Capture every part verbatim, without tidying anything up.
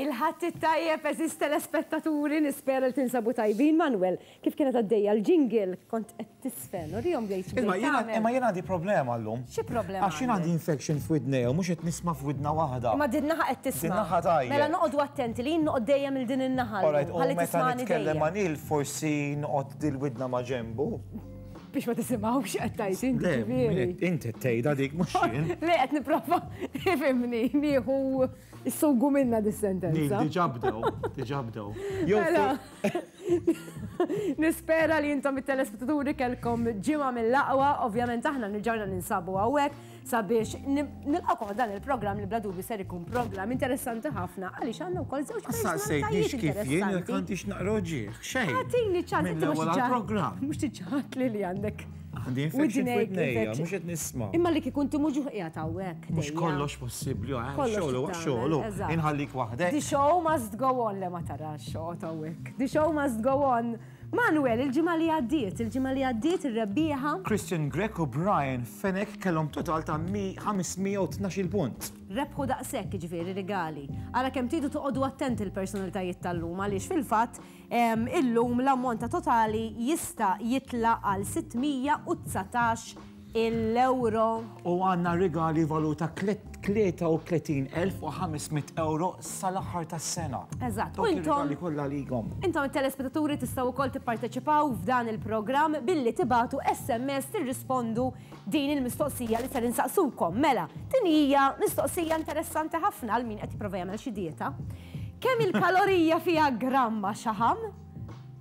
Il-Ħadd it-tajjeb, għeżież telespettaturi, nispera li tinsabu tajbin. Manuel, kif kienet għaddejja l-jingle, kont qed tisfen, urihom bdejt. Imma jiena imma jiena għandi problema llum. Xi problema? Għax jiena għandi infection f'widnejja u mhux qed nisma' f'widna waħda. Imma din naħa qed tisma'. Din naħa tajjeb. Mela noqogħdu attenti li jien noqgħod dejjem il din in-naħa. Alright, u ħalli meta tismani nitkellem ma' dejjem. Neil forsi noqgħod dil-widna ma' ġembu. Biex ma tisimgħux qed tgħid inti Le, ġifieri. inti tgħidha dik mhux jien. Le, qed nipprova ifhimni, nieħu s-sugu minna Neil dis-sentenza. diġà bdew, diġà bdew. Jew Mela, nispera li intom it-telespettaturi kellkom ġimgħa mill-aqwa, ovvjament aħna nirġawna ninsabu hawnhekk sabiex nilqakom dan il-programm li bla dubju ser ikun programm interessanti ħafna għaliex għandna wkoll żewġ Saqsejtnix personalitajiet kif jien jekk interessanti. għandix naqra ġieħ, xejn. Għatini ċans, inti mhux Mill-ewwel ġa- għall-programm. Mhux tiġħat li li għandek. Għandi infection widnejk f'widnejja, infection. mhux qed nisma'. Imma li kieku inti mhux qiegħed hawnhekk. Mhux dejjem. kollox possibbli, eh, Kollox xogħlu tagħmel, xogħlu. eżatt. Inħallik waħdek. The show must go on, le ma tarax xoqgħod hawnhekk. The show must go on. Manuel, il-ġimgħa li għaddiet, il-ġimgħa li għaddiet ir-rebbieħa Christian Grech u Brian Fenech kellhom total ta' ħames mija u tnax-il punt. Rebħu daqshekk ġifieri regali. Ara kemm tridu toqgħodu attenti il-personalitajiet tal-lum għaliex fil-fatt em, illum l-ammont ta' totali jista' jitla' għal sitt mija u dsatax il-euro. U għandna regali valuta tlieta u tletin elf u ħames mitt euro sal-aħħar tas-sena. Eżatt. U Dawk intom ir-regali kollha għalikom. Intom it-telespettaturi tistgħu wkoll tipparteċipaw f'dan il-programm billi tibatu S M S tirrispondu din il-mistoqsija li ser insaqsukom. Mela, din hija mistoqsija interessanti ħafna għal min qed jipprova jagħmel xi dieta. Kemm il-kalorija fiha gramma xaħam?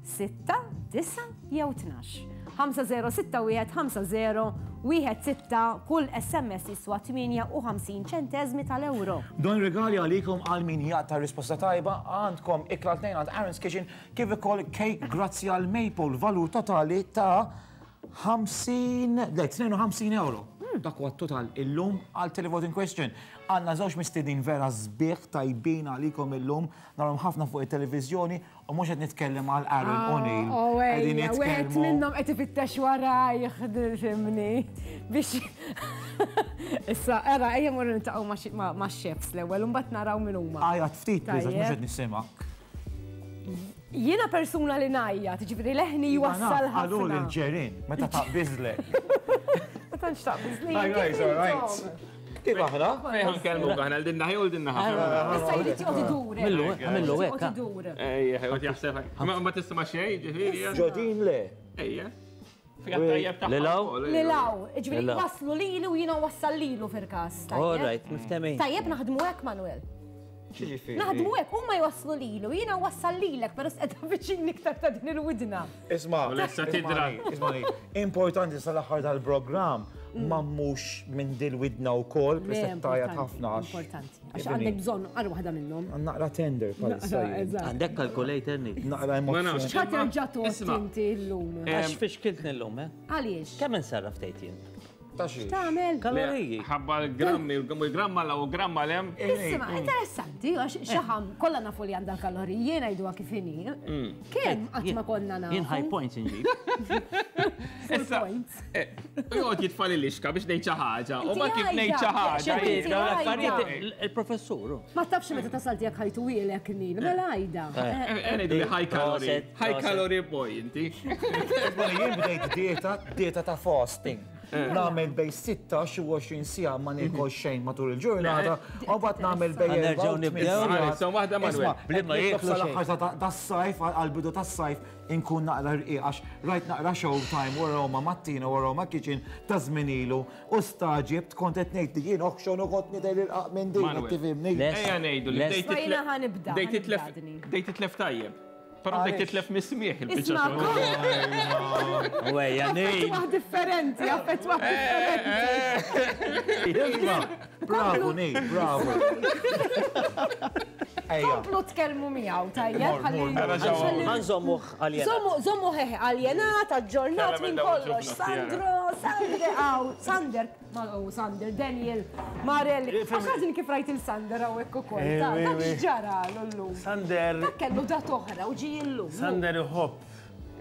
Sitta, disa jew tnax? ħamsa żero sitta wieħed ħamsa żero wieħed sitta, kull S M S jiswa tmienja u ħamsin ċentesmi tal-euro. Dawn regali għalikom għal min jaqta' risposta tajba. Għandkom ikla tnejn għand Aaron's Kitchen kif ukoll cake grazzi għal Maple valur totali ta' ħamsin, le, tnejn u ħamsin euro. Dak huwa total illum għal televoting question. Għandna żewġ mistedin vera sbieħ tajbin għalikom illum, narhom ħafna fuq it-televiżjoni u mhux qed nitkellem għal Aaron O'Neill. Oh, Qegħdin ejja, wieħed nitkellmu minnhom qed ifittex warajh, fhimni. Biex issa, era, ejja morru niltaqgħu ma' xi- ma' ma' chefs l-ewwel u mbagħad naraw min huma. Għajat ftit, please, għax mhux Tajjeb. qed nisimgħek. Jiena persuna li ngħajjat, ġifieri leħni jwassal Għalu ħafna. l-ġerin, meta taqbiżlek. Ma tantx taqbiżli. Hi guys, all right. Kif aħna? Ejja nkellmu aħna l-din naħa u l-din naħa. Issa jrid joqgħod idur. Millu, għamillu hekk, Joqgħod idur. Ejja, ħajqgħod jaħseb. Ma ma tisma' xejn, ġifieri. Ġodin le. Ejja. Fija tajjeb tagħha. Lilaw? wkoll, Lilaw, ġifieri Lilaw. waslu lilu u jiena wassal lilu fil-każ. All right, miftehmin. Tajjeb naħdmu hekk, Manuel. Ġifieri. Naħdmu hekk, huma jwasslu lilu, jiena wassal lilek, però s'qed viċin iktar ta' din il-widna. Isma, U lesta tidra. ismani, importanti sal-aħħar tal-programm ma mhux minn dil-widna u kol, presettajat ħafna għax. Importanti. Għax għandek bżonn għal waħda minnhom. Naqra tender palissa jien. Eżatt. Għandek calculator ni. Naqra Ma nafx. emozzjoni. ċa terġa' tot Isma'. inti llum? Għax fiex kiltni llum, eh? Għaliex? Kemm insarraf tgħid jien? Ta' xiex. Tagħmel? Kaloriji. Ħabba l-grammi, l-gramma l u gramma l-em. Isma, interessanti, għax xaħam, kollha nafu li għandha kaloriji, jiena jgħiduha kif inhi. Kemm qatt ma konna nafu? Jien high points inġib. Full Issa, points. eh, U joqgħod jitfali lixka biex ngħid xi ħaġa. U ma Inti kif ngħid xi għajda. ħaġa. Xi jien- Dawn għajda. l-affarijiet il-professur. Ma tafx meta tasal tiegħek ħajtu wielek Nil, mela għajda. Eh. Eh, ngħidu li high calorie. Proset, High proset. calorie boy inti. Ismani, jien bdejt dieta, dieta ta' fasting. Nagħmel bejn sittax u għoxrin siegħa ma niekol xejn matul il-ġurnata, u mbagħad nagħmel bejn Nerġgħu nibdew. Issa waħda, Manuel. Bli ma jieklu xejn. Sal-aħħar tas-sajf, għal-bidu tas-sajf, inkun naqra rqiq għax rajt naqra Showtime u Roma Mattina u Roma Kitchen ta' żmien ilu u staġibt, kont qed ngħid li jien oħxon u kont nidher irqaq minn din, Manuel. qed tifhimni. Les. Ejja ngħidu li Les. bdejt Ma jiena titlef- ħa nibda, bdejt ħa titlef nibda dini. bdejt titlef tajjeb. Però bdejt Għaliex? titlef mis-smieħ il-biċċa Isma' xogħol. Ejja, Neil. Affettwah differenti, affettwah differenti. Isma', bravo Neil, bravo. Ejja. Komplu tkellmu miegħu, tajjeb, Mor, ħalli. mor, mor. ħalli- Għanżommuh għaljenat. Żommu, żommu hehe, aljenat, aġġornat Kellem minn il-dawl kollox. ġufna, Sandro, Sander, aw, Sander, ma oh, Sander, Daniel, Marelli. Għax għadin kif rajt il-Sander hawnhekk ukoll. Ta' Eh, dak eh, x'ġara l-lum. Sander, Dak kellu dat oħra u ġi illum. Sander iħobb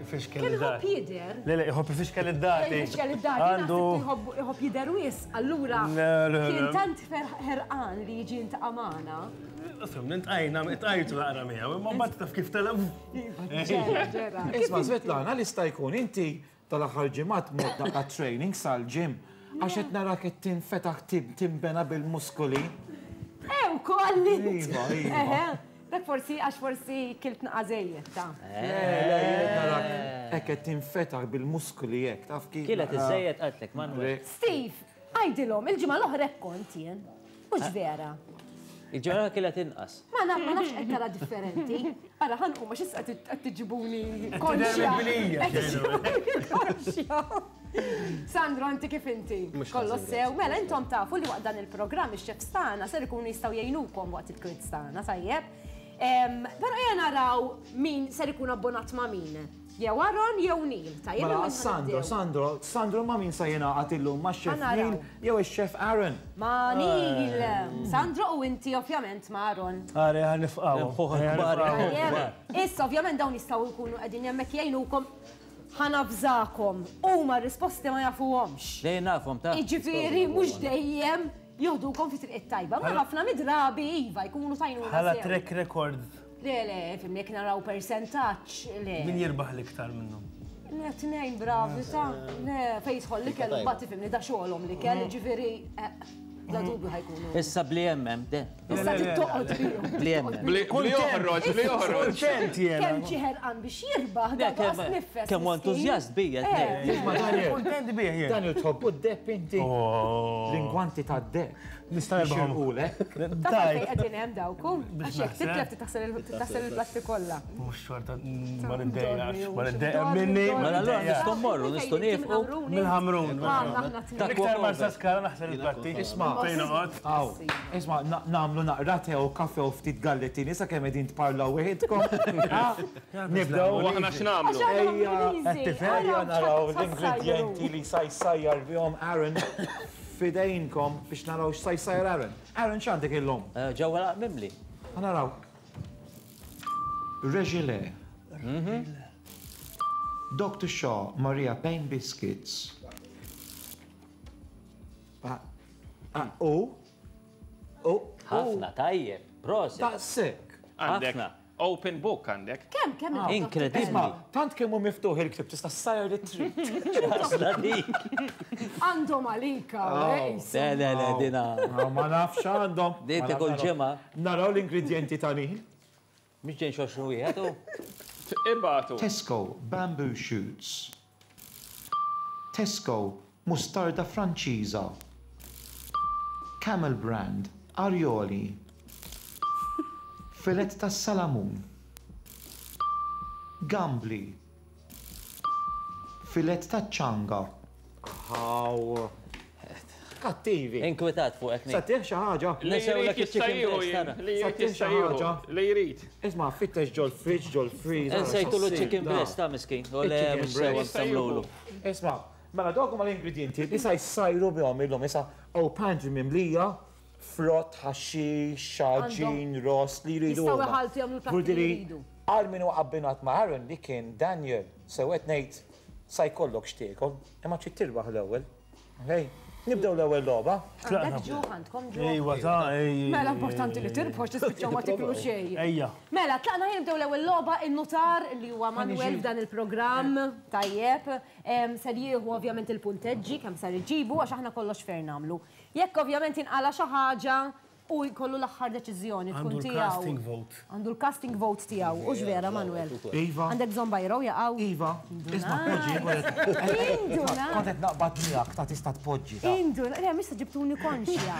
Ifixkel Kien id-dati. iħobb jidher. Le, le, iħobb ifixkel id-dati. Ifixkel id-dati. Għandu. Iħobb jidher wisq, allura Le, le, le. kien tant ħerqan li jiġi jiltaqa' magħna. Fim, nintqajna, tqajtu naqra miegħu, imma mbagħad taf kif tela. Ġera, ġera. Isma' Svetlana, li sta jkun inti tal-aħħar ġimgħat mod naqra training sal-gym għax qed narak qed tinfetaħ timbena bil-muskoli. Eh, ukoll int. Iva, iva. Eħe, Dak forsi għax forsi kilt naqa żejjed ta'. Le, le, jien narak hekk qed tinfetaħ bil-muskoli hekk, taf kif. Kielet iż-żejjed qaltlek, Manuel. Steve, għajdilhom, il-ġimgħa l-oħra hekk kont jien. Mhux vera. Il-ġimgħa kielet inqas. Ma naf, ma nafx qed tara differenti. Ara ħanqu ma x'issa qed tiġibuni konxja. Qed Qed tiġibuni konxja. Sandro, inti kif inti? Kollox sew. Mela, intom tafu li waqt dan il-programm ix-chefs tagħna ser ikunu jistgħu jgħinukom waqt il-quiz tagħna, tajjeb. Però ejja naraw min ser ikun abbonat ma' min. Jew Aaron jew Neil, tajjeb. Mela, imma Sandro, nibdew. Sandro, Sandro ma' min sa jingħaqad illum ma' chef Ħa naraw. Neil jew ix-chef Aaron. Ma' Neil. Sandro u inti ovvjament ma' Aaron. Għare, ħa nifqgħu. Mħuħ kbar. Tajjeb. Issa ovvjament dawn jistgħu jkunu qegħdin hemmhekk jgħinukom ħa navżakom. Huma r-risposti ma jafuhomx. Dejjem nafhom ta' Jiġifieri mhux dejjem joħdukom fi triq it-tajba. Ma ħafna mid-drabi iva jkunu tajnuna. Bħala sew. track record, Le, le, fimni jekk naraw percentaġġ, le. min jirbaħ l-iktar minnhom? Le, tnejn bravi, ta' le, fejn jidħol li kellu mbagħad tifhimni da xogħolhom li kell, ġifieri, eh, bla dubju ħa jkunu. Issa bli hemm, de. Issa tittoqgħod bihom. Bli hemm. Bli bli joħroġ, bli joħroġ. Kontent jiena. Kemm ġie ħerqan biex jirbaħ, da Kemm- qas nifes. Kemm hu miskin. entużjast bija. Eh. tnejn. Isma' Daniel, Kontent bih jien. Daniel tħobbu d-deheb inti. Oh. L-ingwanti tad-deheb. Nista' nirbaħhom. Xirqulek. Ta' fejn Tajt. qegħdin hemm dawku. Għax jekk naħseb. titlef titaħsel il- il-platti kollha. Mhux xorta ma niddejjax, ma Dormi, niddejja dormi, minni. dormi. Mela allura nistgħu mmorru, nistgħu nieqfu. Mill-Ħamrun. Aħna tnejn. Iktar Marsa Skala naħsel il-platti. Isma' Fejn noqgħod. Aw, isma' na- nagħmlu naqra te u kafe u ftit gallettini sa kemm qegħdin tparlaw weħidkom. Ah, Nibdew. U aħna x'nagħmlu? Ejja, qed tifhem ejja naraw l-ingredjenti li sa jsajjar bihom Aaron fidejnkom biex naraw x'sa jsajjar Aaron. Aaron x'għandek illum? Eh, Ġewwa laq mimli. Ħa naraw. Regile. Doctor Shaw, Maria Payne Biscuits. Ah, ah, U, u, Ħafna tajjeb. Proset. Daqshekk. Għandek Ħafna. open book għandek. Kemm kemm Inkredibbli. Isma, tant kemm hu miftuħ il-ktib tista' ssajjar li trid. Ħasla dik. Għandhom għalika. eh, Le, le, le, dina. Ah, Ma nafx għandhom. Din Ma nafx tikol għandhom. ġimgħa. Naraw l-ingredjenti ta' Neil. Mhux ġejn xoxru wieħed u. Ibatu. Tesco bamboo shoots. Tesco mustarda franċiża. Camel brand arioli. Filet tas salamun. Gambli. Filet ta' ċanga. Haw. Kattivi. Inkwetat fuqek Sa Nick. xi ħaġa. Li Nesewlek jrid iċ-chicken jista' jieħu breast, jien. tara. Li jrid Sa tih xi jista' jieħu. ħaġa. Li jrid. Isma' fittex ġol fridge, ġol freezer. Nsejtulu chicken breast ta' miskin. U le, Il-chicken mhux sewa breast. nsamlulu. Isma, mela dawk huma l-ingredienti li sa jsajru bihom illum issa oh pantry mimlija frott, ħaxix, xaġin, ross li jridu. Jistgħu huma. iħalltu jagħmlu l-platti li Vurdiri, jridu. Għal min huwa abbinat ma' Aaron li kien Daniel, sew qed ngħid sa jkollok x'tiekol, imma trid tirbaħ l-ewwel. Okej, nibdew l-ewwel logħba. Għandek ġuħ, għandkom ġuħ. Ejwa ta' ej. Mela importanti li tirbħu tispiċċaw ma tiklu xejn. Ejja. Mela, tlaqna ħin nibdew l-ewwel logħba in-nutar li huwa Manuel f'dan il-programm tajjeb. Em, Ser jieħu ovvjament il-punteġġi kemm ser iġibu għax aħna kollox fer nagħmlu. Jekk ovvjament inqala xi ħaġa u jkollu l-aħħar deċiżjoni tkun Għandu tiegħu. l-casting vote. Għandu l-casting vote tiegħu. Hux vera Manuel? Iva. Għandek bżonn bajro jaqgħu? Iva, isma' poġġi, Induna. kont qed naqbad miegħek ta' tista' tpoġġi. ta' Induna, le, mista ġibtuni konxja.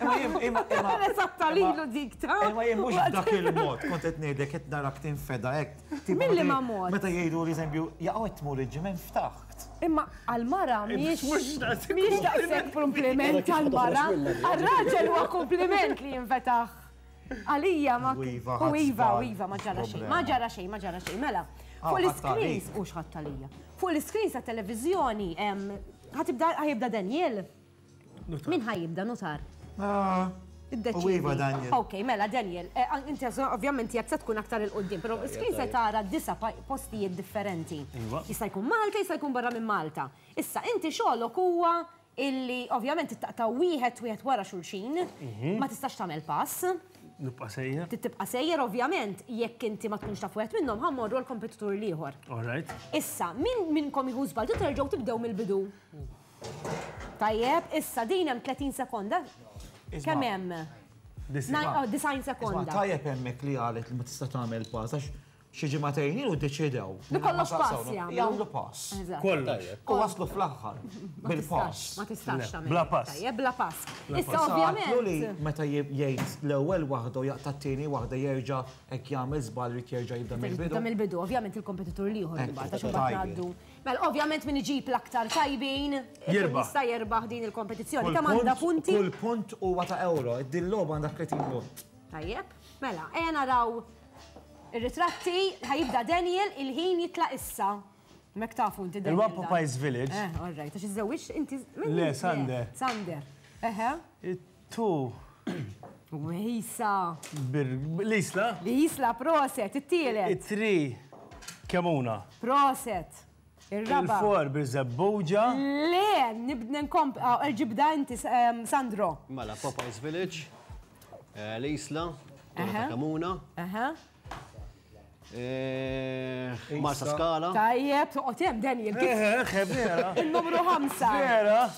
Imma jien imma imma Esatta lilu dik ta' Imma jien mhux b'dak il-mod, kont qed ngħidlek qed narak tinfeda hekk. Tipo Milli meta- ma mod? Meta jgħidu li eżempju, jaqgħu qed tmur il-ġim hemm ftaħt. Imma għal-mara miex Mhux daqshekk miex daqshekk kompliment għal-mara. Għal-raġel huwa kompliment li jinfetaħ. Għalija ma. U iva, U iva, ħadd u iva, ma ġara xejn. problema. Ma ġara xejn, ma ġara xejn. Mela, Ah, fuq ħadd l-screens, għalik. u xħadd għalija. Fuq l-screens ta' televizjoni, ħatibda ħajibda Daniel. Min ħajibda notar? Ah, Iddeċidi. U iva, Daniel. Ok, mela Daniel, eh, inti ovvjament jekk se tkun aktar il-qoddim, però screen se tara disa pa- postijiet differenti. Iva. Jista' jkun Malta, jista' jkun barra minn Malta. Issa inti xogħolok huwa illi ovvjament taqta' wieħed wieħed wara xulxin, ma tistax tagħmel pass. Nibqa' sejjer. Tibqa' sejjer ovvjament jekk inti ma tkunx taf wieħed minnhom ħa mmorru l-kompetitur l-ieħor. All right. Issa, min minnkom jieħu żball, terġgħu tibdew mill-bidu. Tajjeb, issa din hemm tletin sekonda. Kemm hemm? Disa'. Oh, disgħin Isma' sekonda. Tajjeb hemmhekk li qalet li ma tista' tagħmel pass għax xi ġimagħtejn ilu ddeċidew. Li kollox pass jagħmlu. Jagħmlu pass. Eżatt. Kollox. U waslu fl-aħħar bil-pass. Ma tistax tagħmel. Bla pass. Tajjeb, bla pass. Issa Issa għatlu li ovvjament. meta jgħid l-ewwel waħda u jaqta' t-tieni waħda jerġa' hekk jagħmel żball irid jerġa' jibda Tibda mill-bidu. mill-bidu, ovvjament il-kompetitur l-ieħor Ekku, imbagħad għax imbagħad tajjeb. ngħaddu. Mela ovvjament min iġib l-aktar tajbin Jirbaħ. jista' jerbaħ din il-kompetizzjoni. Kull Kemm għandha punt- punti? Kull punt huwa ta' euro, din logħba għandha tletin punt. Tajjeb. Mela, ejja naraw ir-ritratti, ħa jibda Daniel, il-ħin jitlaq issa. Mek tafu inti Daniel. Il-One dan. Popeyes Village. Eh, all right, għax iżżewwiġ inti. Le, Sander. Sander. Eħe. Two. Wejsa. L-Isla. L-Isla, proset, it-tielet. It-three. Kemuna. Proset. Ir-raba. Il-four Birżebbuġa. Le, nibda nkomp, ġibda inti, ehm, Sandro. Mela, Popeyes Village, eh, l-Isla, Torre Aha. ta' Kamuna, Aha. eh, Marsa Skala, Tajjeb, toqgħod hemm Daniel, kif Eh, eh, vera. il-numru ħamsa. Vera.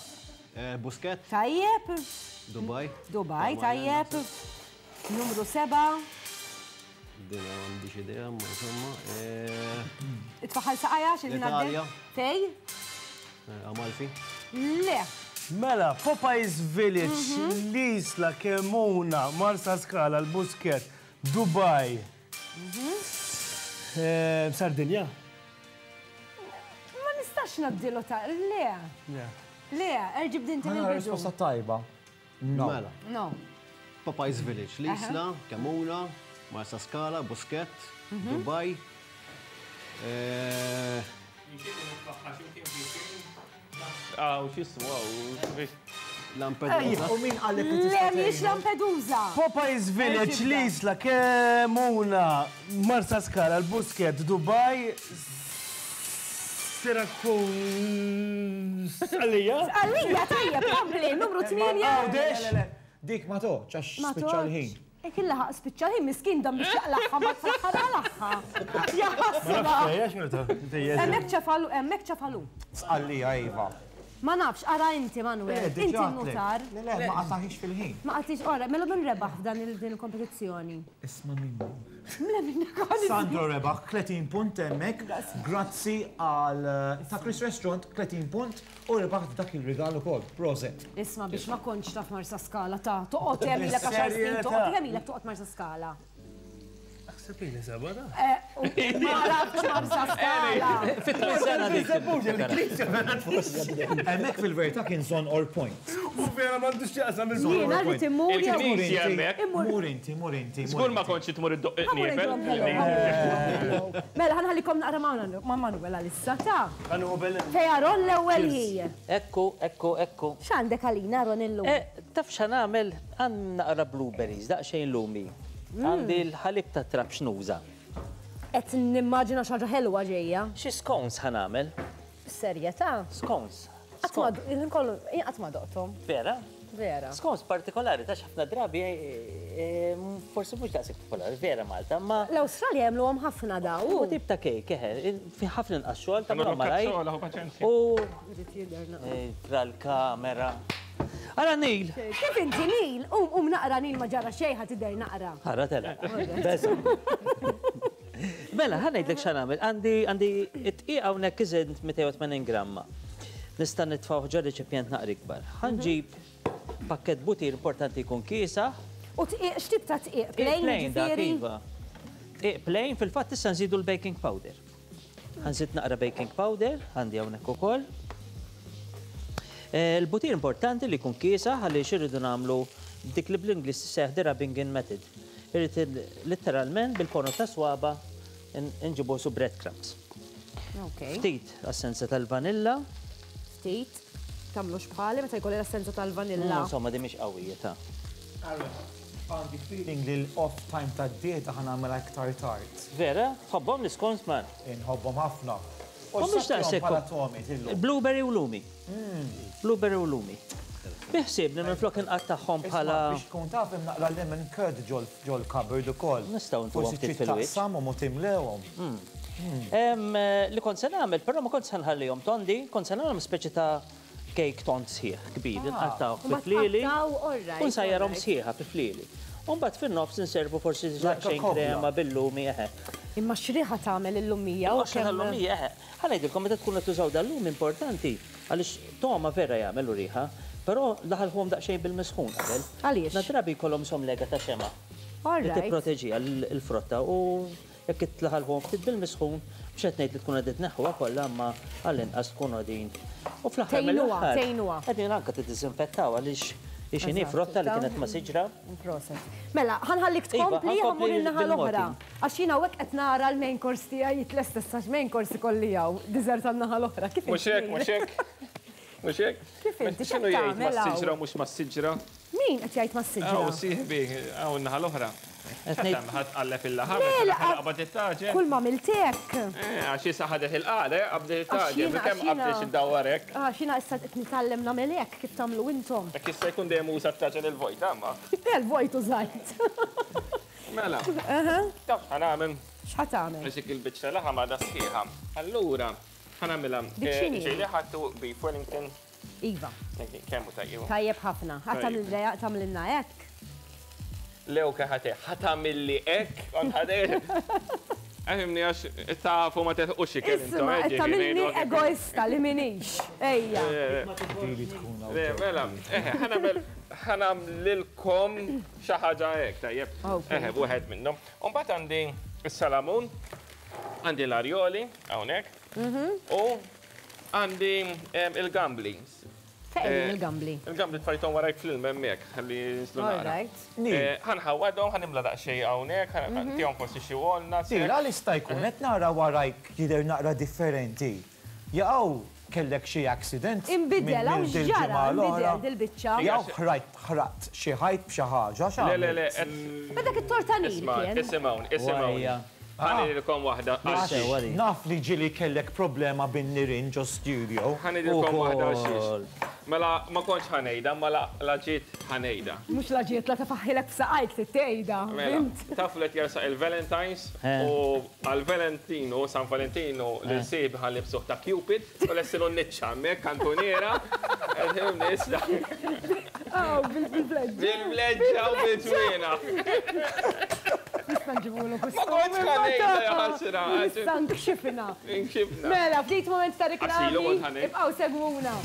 eh, Busquet, Tajjeb, Dubai. Dubai, tajjeb. Numru seba. Dina m'għandix idea, ma insomma. eh, Itfaħal saqajja xil L-Italja. Fej? eh, Amalfi. Le. Mela, Popeyes Village, l-Isla, Kemuna, Marsa Skala, l-Busquet, Dubai. Eh, Sardinja. Ma nistax nabdilu ta' le. Le, erġib din Ħana mill-bidu. risposta tajba. No. Mela, No. Popeyes Village, l-Isla, Kemuna, Marsa Skala, Busquet, Dubai. eh, Aw, x'ismu, aw, Lampedusa. U min qallek li Le, tista' mhix tgħinu? Lampedusa. Popeyes Village, Erġibda. l-Isla, Kemuna, Marsa Skala, l-Busquet, Dubai, Sirakus. Għalija? Għalija, tajjeb, kompli, numru tmienja. Għawdex? Le, le, le, Dik ma toċ, għax Ma spiċċa l-ħin. E kien laħaq spiċċa l-ħin, miskin dan biex jaqlaħħa, ma tfaħħar għal-aħħa. Jaħasra. Hemmhekk ċefalu, hemmhekk ċefalu. Sqallija, Iva. Ma nafx, ara inti, Manuel, Eh, inti diġà n-notar. Le, le, ma qataħix fil-ħin. Ma qatix, ora, mela min rebaħ f'dan il- din il-kompetizzjoni? Isma' minni. Mela minna koni. Sandro rebaħ tletin punt hemmhekk, grazzi għal eh, ta' Chris Restaurant tletin punt u rebaħ dak il-rigal ukoll. Proset. Isma' biex ma kontx taf Marsa Skala ta' toqgħod hemm ilek għaxar snin, Bis-serjetà. toqgħod hemm ilek toqgħod Marsa Skala. Naħseb li seba da. Eh, u ma nafx Marsa Skala. Fit-tmien sena dik. Hemmhekk fil-verità kien zone or point. U vera m'għandux x'jaqsam il-żon. Jiena rrid immur jew Il-knisja hemmhekk. Mur inti, mur inti. Żgur ma kontx tmur id-doq Ħa mmur niefel. ngħidilhom hello, hello. Mela, ħa nħallikom naqra ma' ma' Manuel għalissa ta' Għanu bellin. Fej Aron l-ewwel hi. Ekku, ekku, ekku. X'għandek għalina Aron illum? Eh, taf x'ħa nagħmel? Għand naqra blueberries, daqsxejn lumi. Għandi l-ħalib ta' trab xnuża. Qed nimmaġina xi ħaġa ħelwa ġejja. Xi scones ħa nagħmel? Serjetà. Scones. Qatt ma il kollu jien qatt ma doqthom. Vera? Vera. Scones partikolari, ta' ħafna drabi, eh, eh, forsi mhux daqshekk popolari, vera Malta, ma L-Awstralja jagħmluhom ħafna daw. u tip ta' kejk, eħe, fi ħafna inqas xogħol ta' Għamlu malaj. kazzola, hu paċenzja. U Irid jidher naqra. eh, tra l-kamera. Ara Nil! Kif inti Nil? Um um naqra Nil ma ġara xejn ħa tidher naqra. Ħarra tela. Beża. Mela, ħa ngħidlek x'ħa nagħmel. Għandi għandi it-tqiqa hawnhekk iżid mitejn u tmenin gramma. Nista' nitfgħu ġo reċipjent naqra ikbar. Ħa nġib pakket butir, importanti jkun kiesaħ. U tqiq x'tip ta' tqiq? Plain Plain dak, ġifieri? iva. Tqiq plain, fil-fatt issa nżidu l-baking powder. Ħa nżid naqra baking powder, għandi hawnhekk ukoll. Eh, Il-butir importanti li jkun kiesaħ għaliex irridu nagħmlu dik li bl-Ingliż tissejjaħ the rubbing in method. Irrid il- letteralment bil-ponot ta' swaba nġibu su breadcrumbs. Ok. Ftit essenza tal-vanilla. Ftit. Tagħmlux bħali meta jkolli l-essenza tal-vanilla. Insomma, di mhix qawwija ta'. Għandi feeling li l-off time ta' dieta ħa nagħmilha iktar tard. Vera? Tħobbhom l-scones man? Inħobbhom ħafna. U mhux daqshekk. Blueberry u lumi. Blueberry u lumi. Biħsibni minflok inqattagħhom bħala. Biex tkun taf hemm naqra lemon curd ġol cupboard ukoll. Nistgħu ntuhom ftit fil-wiċċ. Taqsam u timlewhom. Li kont se nagħmel, però ma kont se nħallihom tondi, kont se nagħmel speċi ta' cake tond sħiħ kbir, nqattgħu fi flieli u nsajjarhom sħiħa fi flieli. U mbagħad fin-nofs inservu forsi xejn krema bil-lumi eħe. Imma x'riħa tagħmel il-lumija u kemm il-lumija eħe. Ħa ngħidilkom meta tkunu tużaw dal-lum importanti għaliex toma vera jagħmel u riħa, però laħalħuhom daqsxejn bil-misħun qabel. Għaliex? Nadrabi jkollhom som lega ta' xema. Li tipproteġiha l-frotta u jekk itlaħalħuhom ftit bil-misħun mhux qed ngħid li tkun qegħdin tneħħuha kollha imma għall-inqas tkun qegħdin. U fl-aħħar mill-aħħar qegħdin anke tiddiżinfettaw għaliex ixini frotta li kienet ma' siġra. Proset. Mela, ħa nħallik tkompli ħa mmur in-naħa l-oħra. Għax jiena hawnhekk qed nara l-main course tiegħi jitlesta issa main course ikolli hawn, dessert għan-naħa l-oħra. Kif Mhux hekk, mhux hekk. Mhux hekk. Kif inti x'inhu jgħid ma' siġra mhux ma' siġra? Min qed jgħid ma' siġra? Hawn sieħbi, hawn in-naħa l-oħra. Ħadd qalleb il-laħam, qabad it-taġen. Kull ma miltek. Għax issa ħadet il-qagħda, qabdet it-taġen, kemm qabdet iddawwar hekk. Għax jiena issa qed nitgħallem nagħmel hekk kif tagħmlu intom. Hekk issa jkun dejjem uża t-taġen il-vojt, amma. Il-vojt użajt. Mela. Taf ħa nagħmel. X'ħa tagħmel? Għax dik il-biċċa laħam għadha sħiħa. Allura, ħa nagħmilha. Ġieli ħadtu beef Wellington. Iva. Kemm hu tajjeb? Tajjeb ħafna. Ħa tagħmlilna hekk. Lew keħate, ħatamilli ek, għadħadej. Għahimni għax tafu ma teħuxi kien intom. Isma, tamilni egoista li minix. Ejja. Mela, ħa nagħmlilkom xi ħaġa hekk, tajjeb. Eħe, wieħed minnhom. U mbagħad għandi s-salamun, għandi l-arjoli, hawnhekk, u għandi il-gambli. Fejn il-gambli? Il-gambli tfajthom warajk fl-ilma hemmhekk, ħalli jinżlu naqra. Ħa nħawwadhom, ħa nimla daqsxejn hawnhekk, ħa ntihom forsi xi walnuts. Sir, għal jista' jkun qed nara warajk jidher naqra differenti. Jaqgħu kellek xi accident. Inbidel, hawn x'ġara, inbidel dil-biċċa. Jew ħrajt ħraqt xi ħajt b'xi ħaġa xi. Le, le, le. Ma dak it-tortanil kien. Isimgħuni, isimgħuni. Ħa ngħidilkom waħda. Naf li ġieli kellek problema bin-nirien ġo studio. Ħa ngħidilkom waħda xiex. Mela ma kontx ħa ngħidha, ma la ġiet ħa ngħidha. Mhux la ġiet la tafaħħilek f'saqajk tgħidha. Taf li qed jersaq il-Valentines u għal-Valentino, San Valentino, l-sib ħa nlibsuh ta' Cupid u lessilu n-niċċa hemmhekk kantuniera. Aw, bil-bleġġa. Bil-bleġġa u bil-ġwiena. Nista' nġibulok Ma kontx ħa ngħidha ja ħasra. Issa nkxifna. Nkxifna. Mela, ftit moment ta' reklami. Ibqgħu segwuna.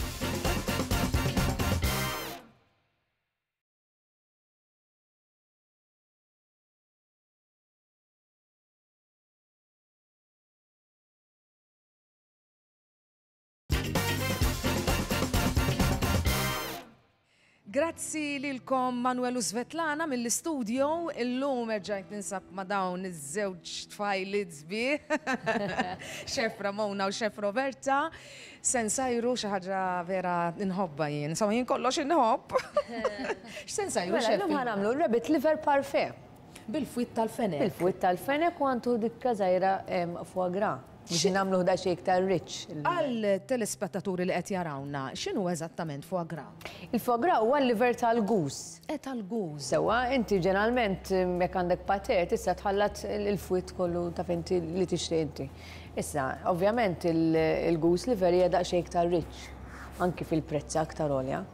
Grazzi lilkom Manuel u Svetlana mill-istudio. Illum erġajt ninsab ma' dawn iż-żewġ tfajliet sbieħ. Chef Ramona u Chef Roberta. Se nsajru xi ħaġa vera nħobbha jien. Insomma jien kollox inħobb. X'se nsajru Mela, chef? llum ħa nagħmlu rabbit liver parfait. Bil-fwiet tal-fenek. Bil-fwiet tal-fenek u għandu dikka żgħira foie gras. Biex nagħmlu daqsxejn iktar rich. Għal telespettaturi li qed jarawna, x'inhu eżattament foie gras? Il-foie gras huwa l-liver tal-goose. E tal-goose. Sewwa, inti ġeneralment jekk għandek pate tista' tħallat il-fwiet kollu taf inti li tixtieq inti. Issa, ovvjament il-goose liver hija daqsxejn iktar rich. Anki fil-prezz aktar għolja.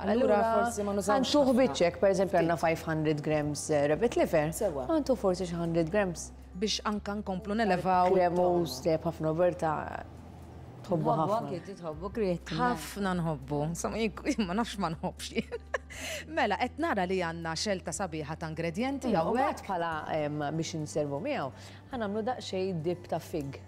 Allura forsi ma nużawx. Għantuh biċċek, per eżempju, għandna five hundred grams rabbit liver. Sewwa. Għantu forsi xi hundred grams. Biex anka nkomplu nelevaw. Kremus, teb ħafna Roberta, tħobbu ħafna. Anki tħobbu kriet. Ħafna nħobbu, insomma jien ma nafx ma nħobbx jien. Mela, qed nara li għandna xelta sabiħa ta' ingredjenti hawnhekk. Bħala biex inservu miegħu, ħa nagħmlu daqsxejn dip ta' fig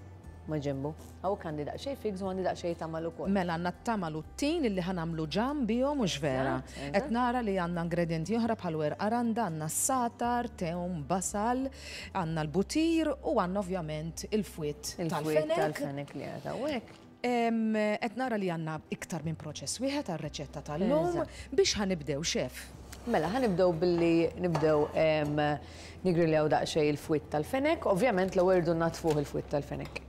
ma' ġembu. Hawnhekk għandi daqsxejn figs u għandi daqsxejn tamal ukoll. Mela għandna t-tamal u t-tin illi ħa nagħmlu ġam bihom mhux vera. Qed nara li għandna ingredjenti oħra bħal werqa randa, għandna s-satar, tewm, basal, għandna l-butir u għandna ovvjament il-fwiet Il-fwiet tal-fenek li għadha hawnhekk. Qed nara li għandna iktar minn proċess wieħed għar-reċetta tal-lum biex ħa nibdew chef. Mela, ħa nibdew billi nibdew nigriljaw daqsxejn il-fwitt tal-fenek. Ovvjament l-ewwel irdu natfuh il-fwitt tal-fenek.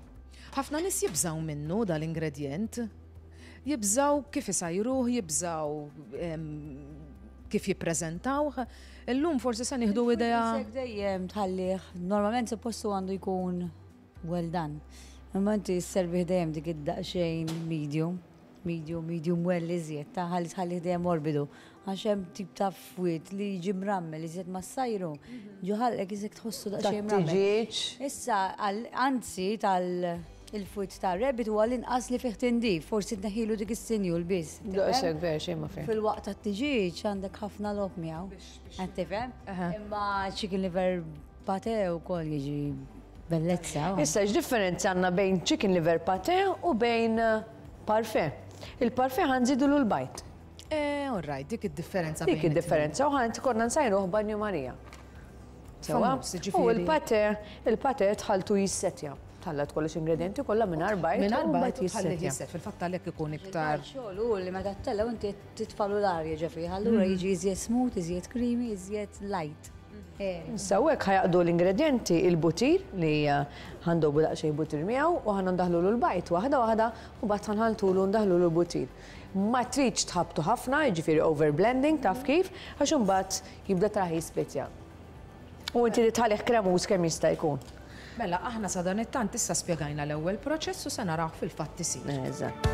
Ħafna nies jibżgħu minnu dal-ingredjent. Jibżgħu kif isajruh, jibżgħu kif jippreżentawh. Illum forsi se nieħdu idea. Dejjem tħallih, normalment suppostu għandu jkun well done. Imma inti sservih dejjem dik id-daqsxejn medium, medium, medium well iżjed, ta' ħalli tħallih dejjem morbidu. Għax hemm tip ta' fwiet li jiġi mrammel iżjed ma ssajru. Ġo ħalqek iżjed tħossu daqsxejn mrammel. Issa, anzi tal il-fwiet ta' rabbit huwa l-inqas li fih tindif, forsi tneħħilu dik is-sinjul biss. Daqshekk vera xejn ma fih. Fil-waqt tat-tiġieġ għandek ħafna logħob miegħu. Qed tifhem? Imma chicken liver pate wkoll jiġi bellezza. Issa x'differenza għandna bejn chicken liver pate u bejn parfait? Il-parfait ħa nżidulu l-bajd. Eh, all right, dik id-differenza. Dik id-differenza u ħa konna nsajruh banju Marija. U il-pate, il-pate tħaltu jissetja. Tħallat kollox ingredienti kollha mingħajr bajd. Mingħajr bajd tħallih jisset, fil-fatt għalhekk ikun iktar. Xogħol hu li meta ttellgħu inti titfalu l-arja ġo fih, allura jiġi iżjed smooth, iżjed creamy, iżjed light. Issa hekk ħajaqdu l-ingredienti il-butir li ħandobu daqsxejn butir miegħu u ħa ndaħlulu l-bajd waħda waħda u mbagħad ħanħaltulu ndaħlulu l-butir. Ma tridx tħabtu ħafna, jiġifieri over blending taf kif, għax imbagħad jibda traħi splitja. U inti li tħallih kremuż kemm jista' jkun. Mela, aħna sa dan it-tant issa spjegajna l-ewwel proċess u se naraw fil-fatt isir. Eżatt.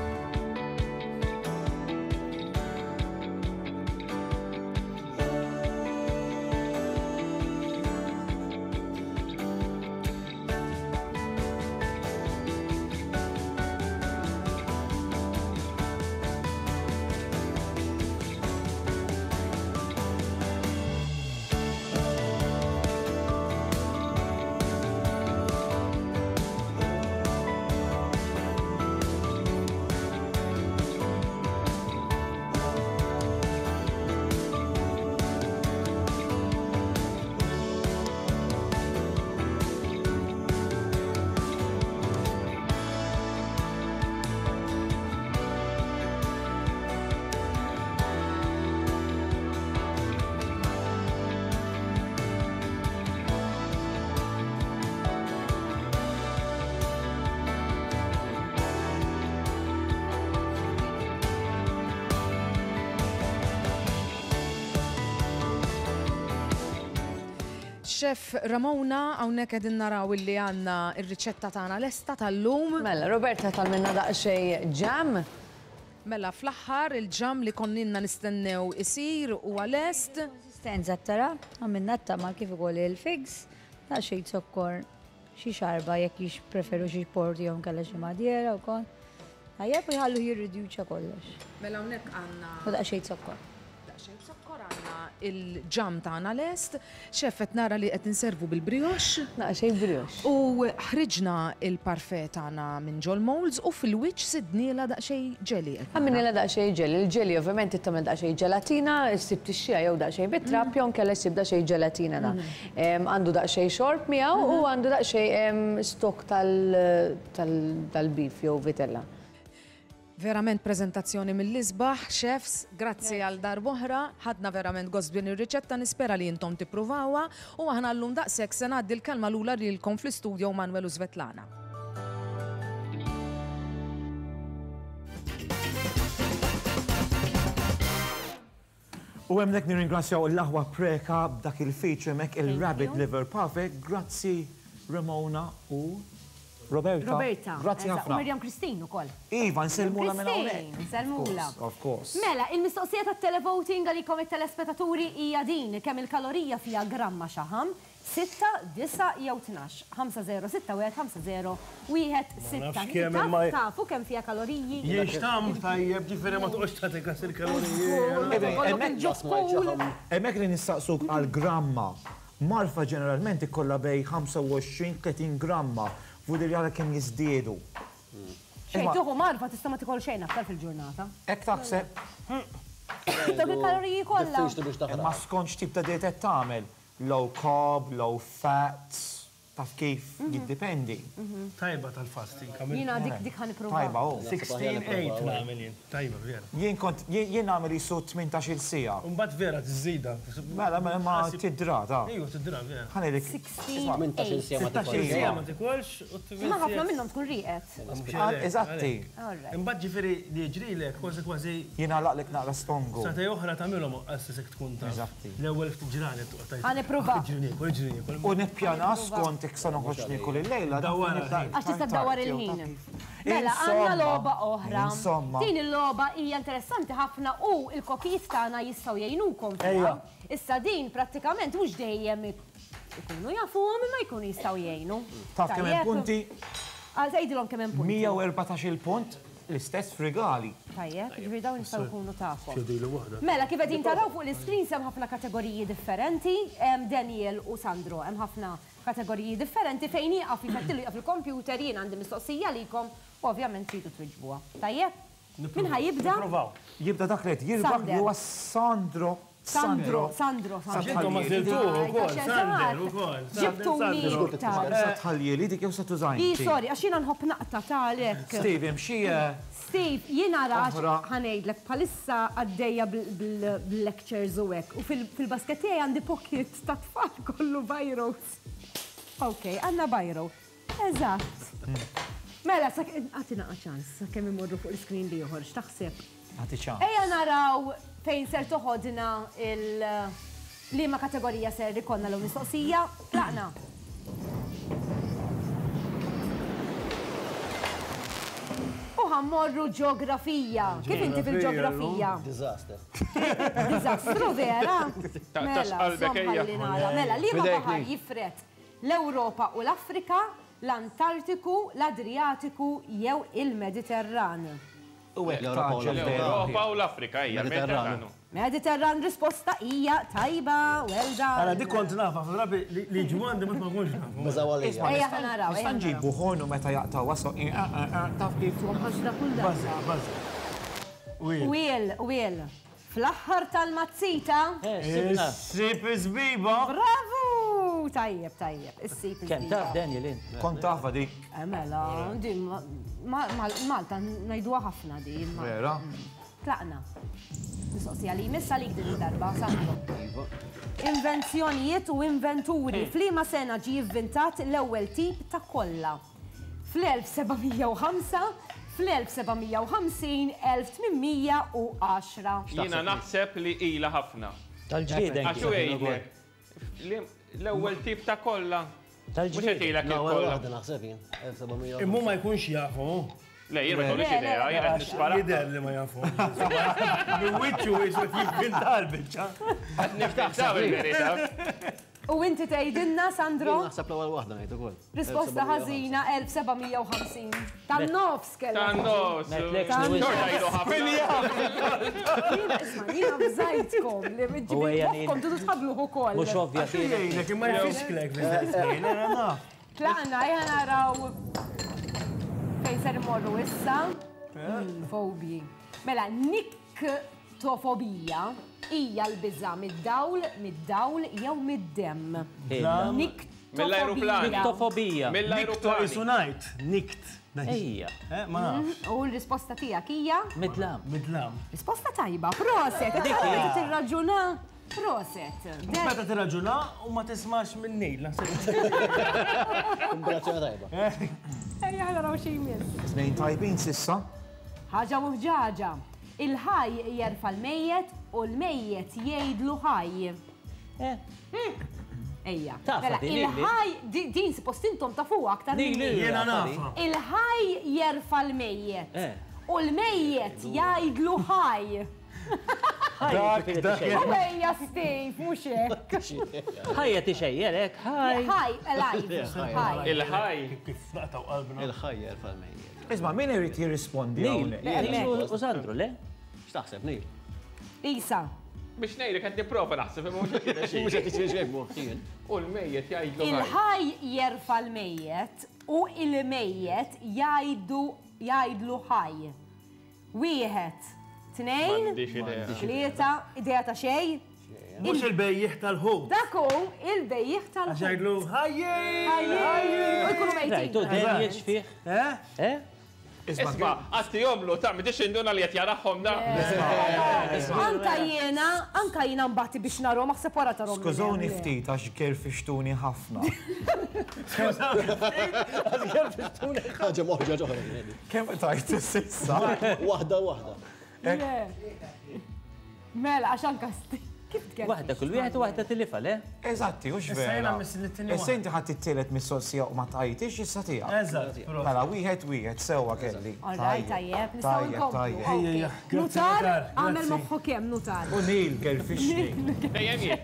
Chef Ramona, hawnhekk qegħdin naraw illi għandna r-riċetta tagħna lesta tal-lum. Mela, Roberta talminna daqsxejn ġam. Mela, fl-aħħar il-ġam li konninna nistennew isir huwa lest. Konsistenza tara, għamilna t-tamal kif ukoll il-figs, daqsxejn zokkor, xi xarba jekk jippreferu xi port jew inkella xi madiera wkoll. Tajjeb u jħallu jirriduċa kollox. Mela hawnhekk għandna. U daqsxejn zokkor. Daqsxejn zokkor għandna il-ġam tagħna lest. Chef qed nara li qed inservu bil-brioche. Daqsxejn brioche. U ħriġna il-parfait tagħna minn ġol molds u fil-wiċċ sidniela daqsxejn ġeli. Għamilnielha daqsxejn ġeli. Il-ġeli ovvjament tagħmel daqsxejn ġelatina, issib tixxiha jew daqsxejn bit-trab jew inkella ssib daqsxejn ġelatina da. Għandu daqsxejn xorb miegħu u għandu daqsxejn stok tal-beef jew vitella. Verament prezentazzjoni mill-isbaħ, chefs, grazzi għal darb'oħra, ħadna verament gost b'din ir-riċetta, nispera li intom tippruvawha u aħna llum daqshekk se ngħaddi l-kelma lura lilkom fl-istudio Manuel u Svetlana. U hemmhekk nirringrazzjaw l-aħwa Preca b'dak il-feature hemmhekk il-Rabbit Liver Parfait. Grazzi Ramona u Roberta. Roberta. Grazzi ħafna. U Miriam Christine ukoll. Iva, nsellmula minn hawnhekk. Nsellmula. Of course. Mela, il-mistoqsija tat-televoting għalikom it-telespettaturi hija din kemm il-kalorija fiha gramma xaħam, sitta, disa' jew tnax. ħamsa zero sitta wieħed ħamsa zero wieħed sitta. Tafu kemm fiha kaloriji? Jixtam tajjeb, ġifieri ma toqgħodx tagħti kas il-kaloriji. Hemmhekk li nistaqsuk għal gramma. Marfa ġeneralment ikollha bej ħamsa u għoxrin tletin gramma. Vudir jara kemm jiżdiedu. Xejn tuħu marfa tista' ma tikol xejn aktar fil-ġurnata. Hekk taħseb. Dawk il-kaloriji kollha. Imma skont x'tip ta' diet qed tagħmel. Low carb, low fat. Taf kif jiddependi. Tajba tal-fasting. Jiena dik dik ħa nipprova. Tajba, oh. sixteen eight nagħmel jien. Tajba, vera. Jien kont, jien nagħmel jisu tmintax-il siegħa. Mbagħad vera tiżida. Mela, mela ma tidra, ta. Ejju, tidra, vera. Ħa ngħidlek. sixteen eight. Sittax-il siegħa ma tikolx u Ma ħafna minnhom tkun rieqed. Eżatti. Imbagħad ġifieri li jiġrilek kważi kważi. Jien għalaqlek naqra stongu. Satej oħra tagħmilhom qassis hekk tkun ta'. Eżatti. L-ewwel ftit ġranet toqgħod tgħid. Ħa nipprova. Ġrini, ġrini. U nippjana skont jekk sa noħroġ niekol il-lejla. Għax tista' ddawwar il-ħin. Mela, għandna logħba oħra. Din il-logħba hija interessanti ħafna u l-kokijiet tagħna jistgħu jgħinukom fiha. Issa din prattikament mhux dejjem ikunu jafuhom imma jkunu jistgħu jgħinu. Taf kemm hemm punti? Għal tgħidilhom kemm hemm punti. mija u erbatax il punt l-istess f'rigali. Tajjeb, ġifieri dawn jistgħu jkunu tagħkom. Mela, kif qegħdin taraw fuq l-iscreen hemm ħafna kategoriji differenti, hemm Daniel u Sandro, hemm ħafna kategoriji differenti fejn jieqaf jfettilu jieqaf il-computer, jien għandi mistoqsija għalikom u ovvjament tridu twiġbuha. Tajjeb? Min ħa jibda? Jibda dak li qed jirbaħ li huwa Sandro. Sandro, Sandro, Sandro. Intom ma żiltuh ukoll, Sander ukoll. Ġibtuni. Sa tħallieli dik jew sa tużajn. I sorry, għax jiena nħobb naqta' talek. Steve, imxi. Steve, jiena rax ħa ngħidlek bħalissa għaddejja bil-lectures u hekk. U fil-basket tiegħi għandi pocket ta' tfal kollu bajros. Ok, għandna bajro. Eżatt. Mela, għatina ċans, kemm imorru fuq l-screen li joħorġ, taħseb. Għati ċans. Ejja naraw fejn ser toħodna il-liema kategorija ser ikonna l mistoqsija. Tlaqna. U ħammorru ġeografija. Kif inti fil-ġeografija? Disaster. Disastru vera? Mela, mela, liema baħar jifret l-Ewropa u l-Afrika, l-Antartiku, l-Adriatiku jew il-Mediterran. L-Europa u l-Afrika hija Mediterranu. Mediterran risposta hija tajba, well done. Ara dik kont nafa, drabi li ġwandi ma tkunx nafa. Bażawalija. Ejja ħa naraw. Nista' nġibu ħonu meta jaqtaw waso. Taf kif. Ħaġra kull darba. Wiel, wiel. Fl-aħħar tal-mazzita. Issib iż-żbiba. Bravo! Tajjeb, tajjeb, issib iż-żbiba. Kemm taf Daniel int? Kont tafha dik. Mela, din Malta ngħiduha ħafna din. Vera? Tlaqna. Mistoqsija li jmiss għalik din id-darba, Sandro. Invenzjonijiet u inventuri. F'liema sena ġie ivvintat l-ewwel tip ta' kolla? fl-elf seba' mija u ħamsa, fl-elf seba' mija u ħamsin, elf tmien mija u għaxra. Jiena naħseb li ilha ħafna. Tal-ġlieden. Għax hu jgħidlek. L-ewwel tip ta' kolla. Tal-ġlieden. L-ewwel waħda naħseb jien. elf seba' mija u Imma ma jkunx jafu. Le, jien ma jkollix idea, jien qed nispara. Jidher li ma jafu. Minn wiċċu jisu jivvinta l-biċċa. Qed niftaħ il-verità. U inti tgħidilna, Sandro? Jien naħseb l-ewwel waħda ngħid ukoll. Risposta ħażina elf seba' mija u ħamsin. Tan-nofs kellha. Tan-nofs. Xorta jgħidu ħafna. Jiena isma' jiena bżajtkom li ġibu moħħkom tridu tħabbluh ukoll. Mhux ovvja jgħidlek imma jfixklek fl-istess ħin, ara naf. Tlaqna, ejja naraw fejn ser imorru issa. Fobji. Mela, niktofobija hija l-biża' mid-dawl, mid-dawl jew mid-demm. Mill-ajruplan. Niktofobija. Nikto isu ngħid, nikt. Ejja. Ma nafx. U l-risposta tiegħek hija? Midlam. Midlam. Risposta tajba, proset. Meta tirraġuna, proset. Meta tirraġuna u ma tismax minn Neil. Kombinazzjoni tajba. Ejja ħa naraw xi jmiss. Tnejn tajbin sissa. Ħaġa u ħġaġa. Il-ħaj jerfa' l-mejjet u l-mejjet jgħidlu ħaj. Ejja. Tafa din Il-ħaj, din suppost intom tafuha aktar minni. Jiena nafa. Il-ħaj jerfa' l-mejjet u l-mejjet jgħidlu ħaj. Dak, dak. U ejja Steve, mhux hekk. Ħajja tixejjer hekk, ħaj. Ħaj, alive. Ħaj. Il-ħaj. Kif naqtaw qalbna. Il-ħaj jerfa' l-mejjet. Isma' min irid jirrispondi hawnhekk? Neil u Sandro, le? X'taħseb, Neil? Isa. Biex ngħidlek qed nipprova naħseb imma mhux qed Mhux qed jiġri xejn moħħi. U l-mejjet jgħidlu. Il-ħaj jerfa' l-mejjet u il-mejjet jgħidu jgħidlu ħaj. Wieħed, tnejn, tlieta, idea ta' xejn? Mhux il-bejjieħ tal-ħut. Dak hu il-bejjieħ tal-ħut. Għax jgħidlu ħajji! Ħajji! U jkunu mejtin. Rajtu Daniel x'fih? Eh? Eh? Isma, għatti jomlu, ta' midix induna li qed jarahom da. Anka jiena, anka jiena mbagħti biex narhom, aħseb wara tarhom. Skużawni ftit għax kerfixtuni ħafna. Għax kerfixtuni. Ħaġa moħġa ġoħra. Kemm tajt s'issa? Waħda waħda. Mela, għax anka kif tkellem? Waħda kull wieħed u waħda tilifa, le? Eżatti, hux vera. Issa inti ħadd it-tielet mistoqsija u ma tajtix issa tiegħek. Eżatt. Mela wieħed wieħed sewwa kelli. All right, tajjeb, nistgħu nkomplu. Nutar, għamel moħħu kemm nutar. U Neil kerfixni. Dejjem jien.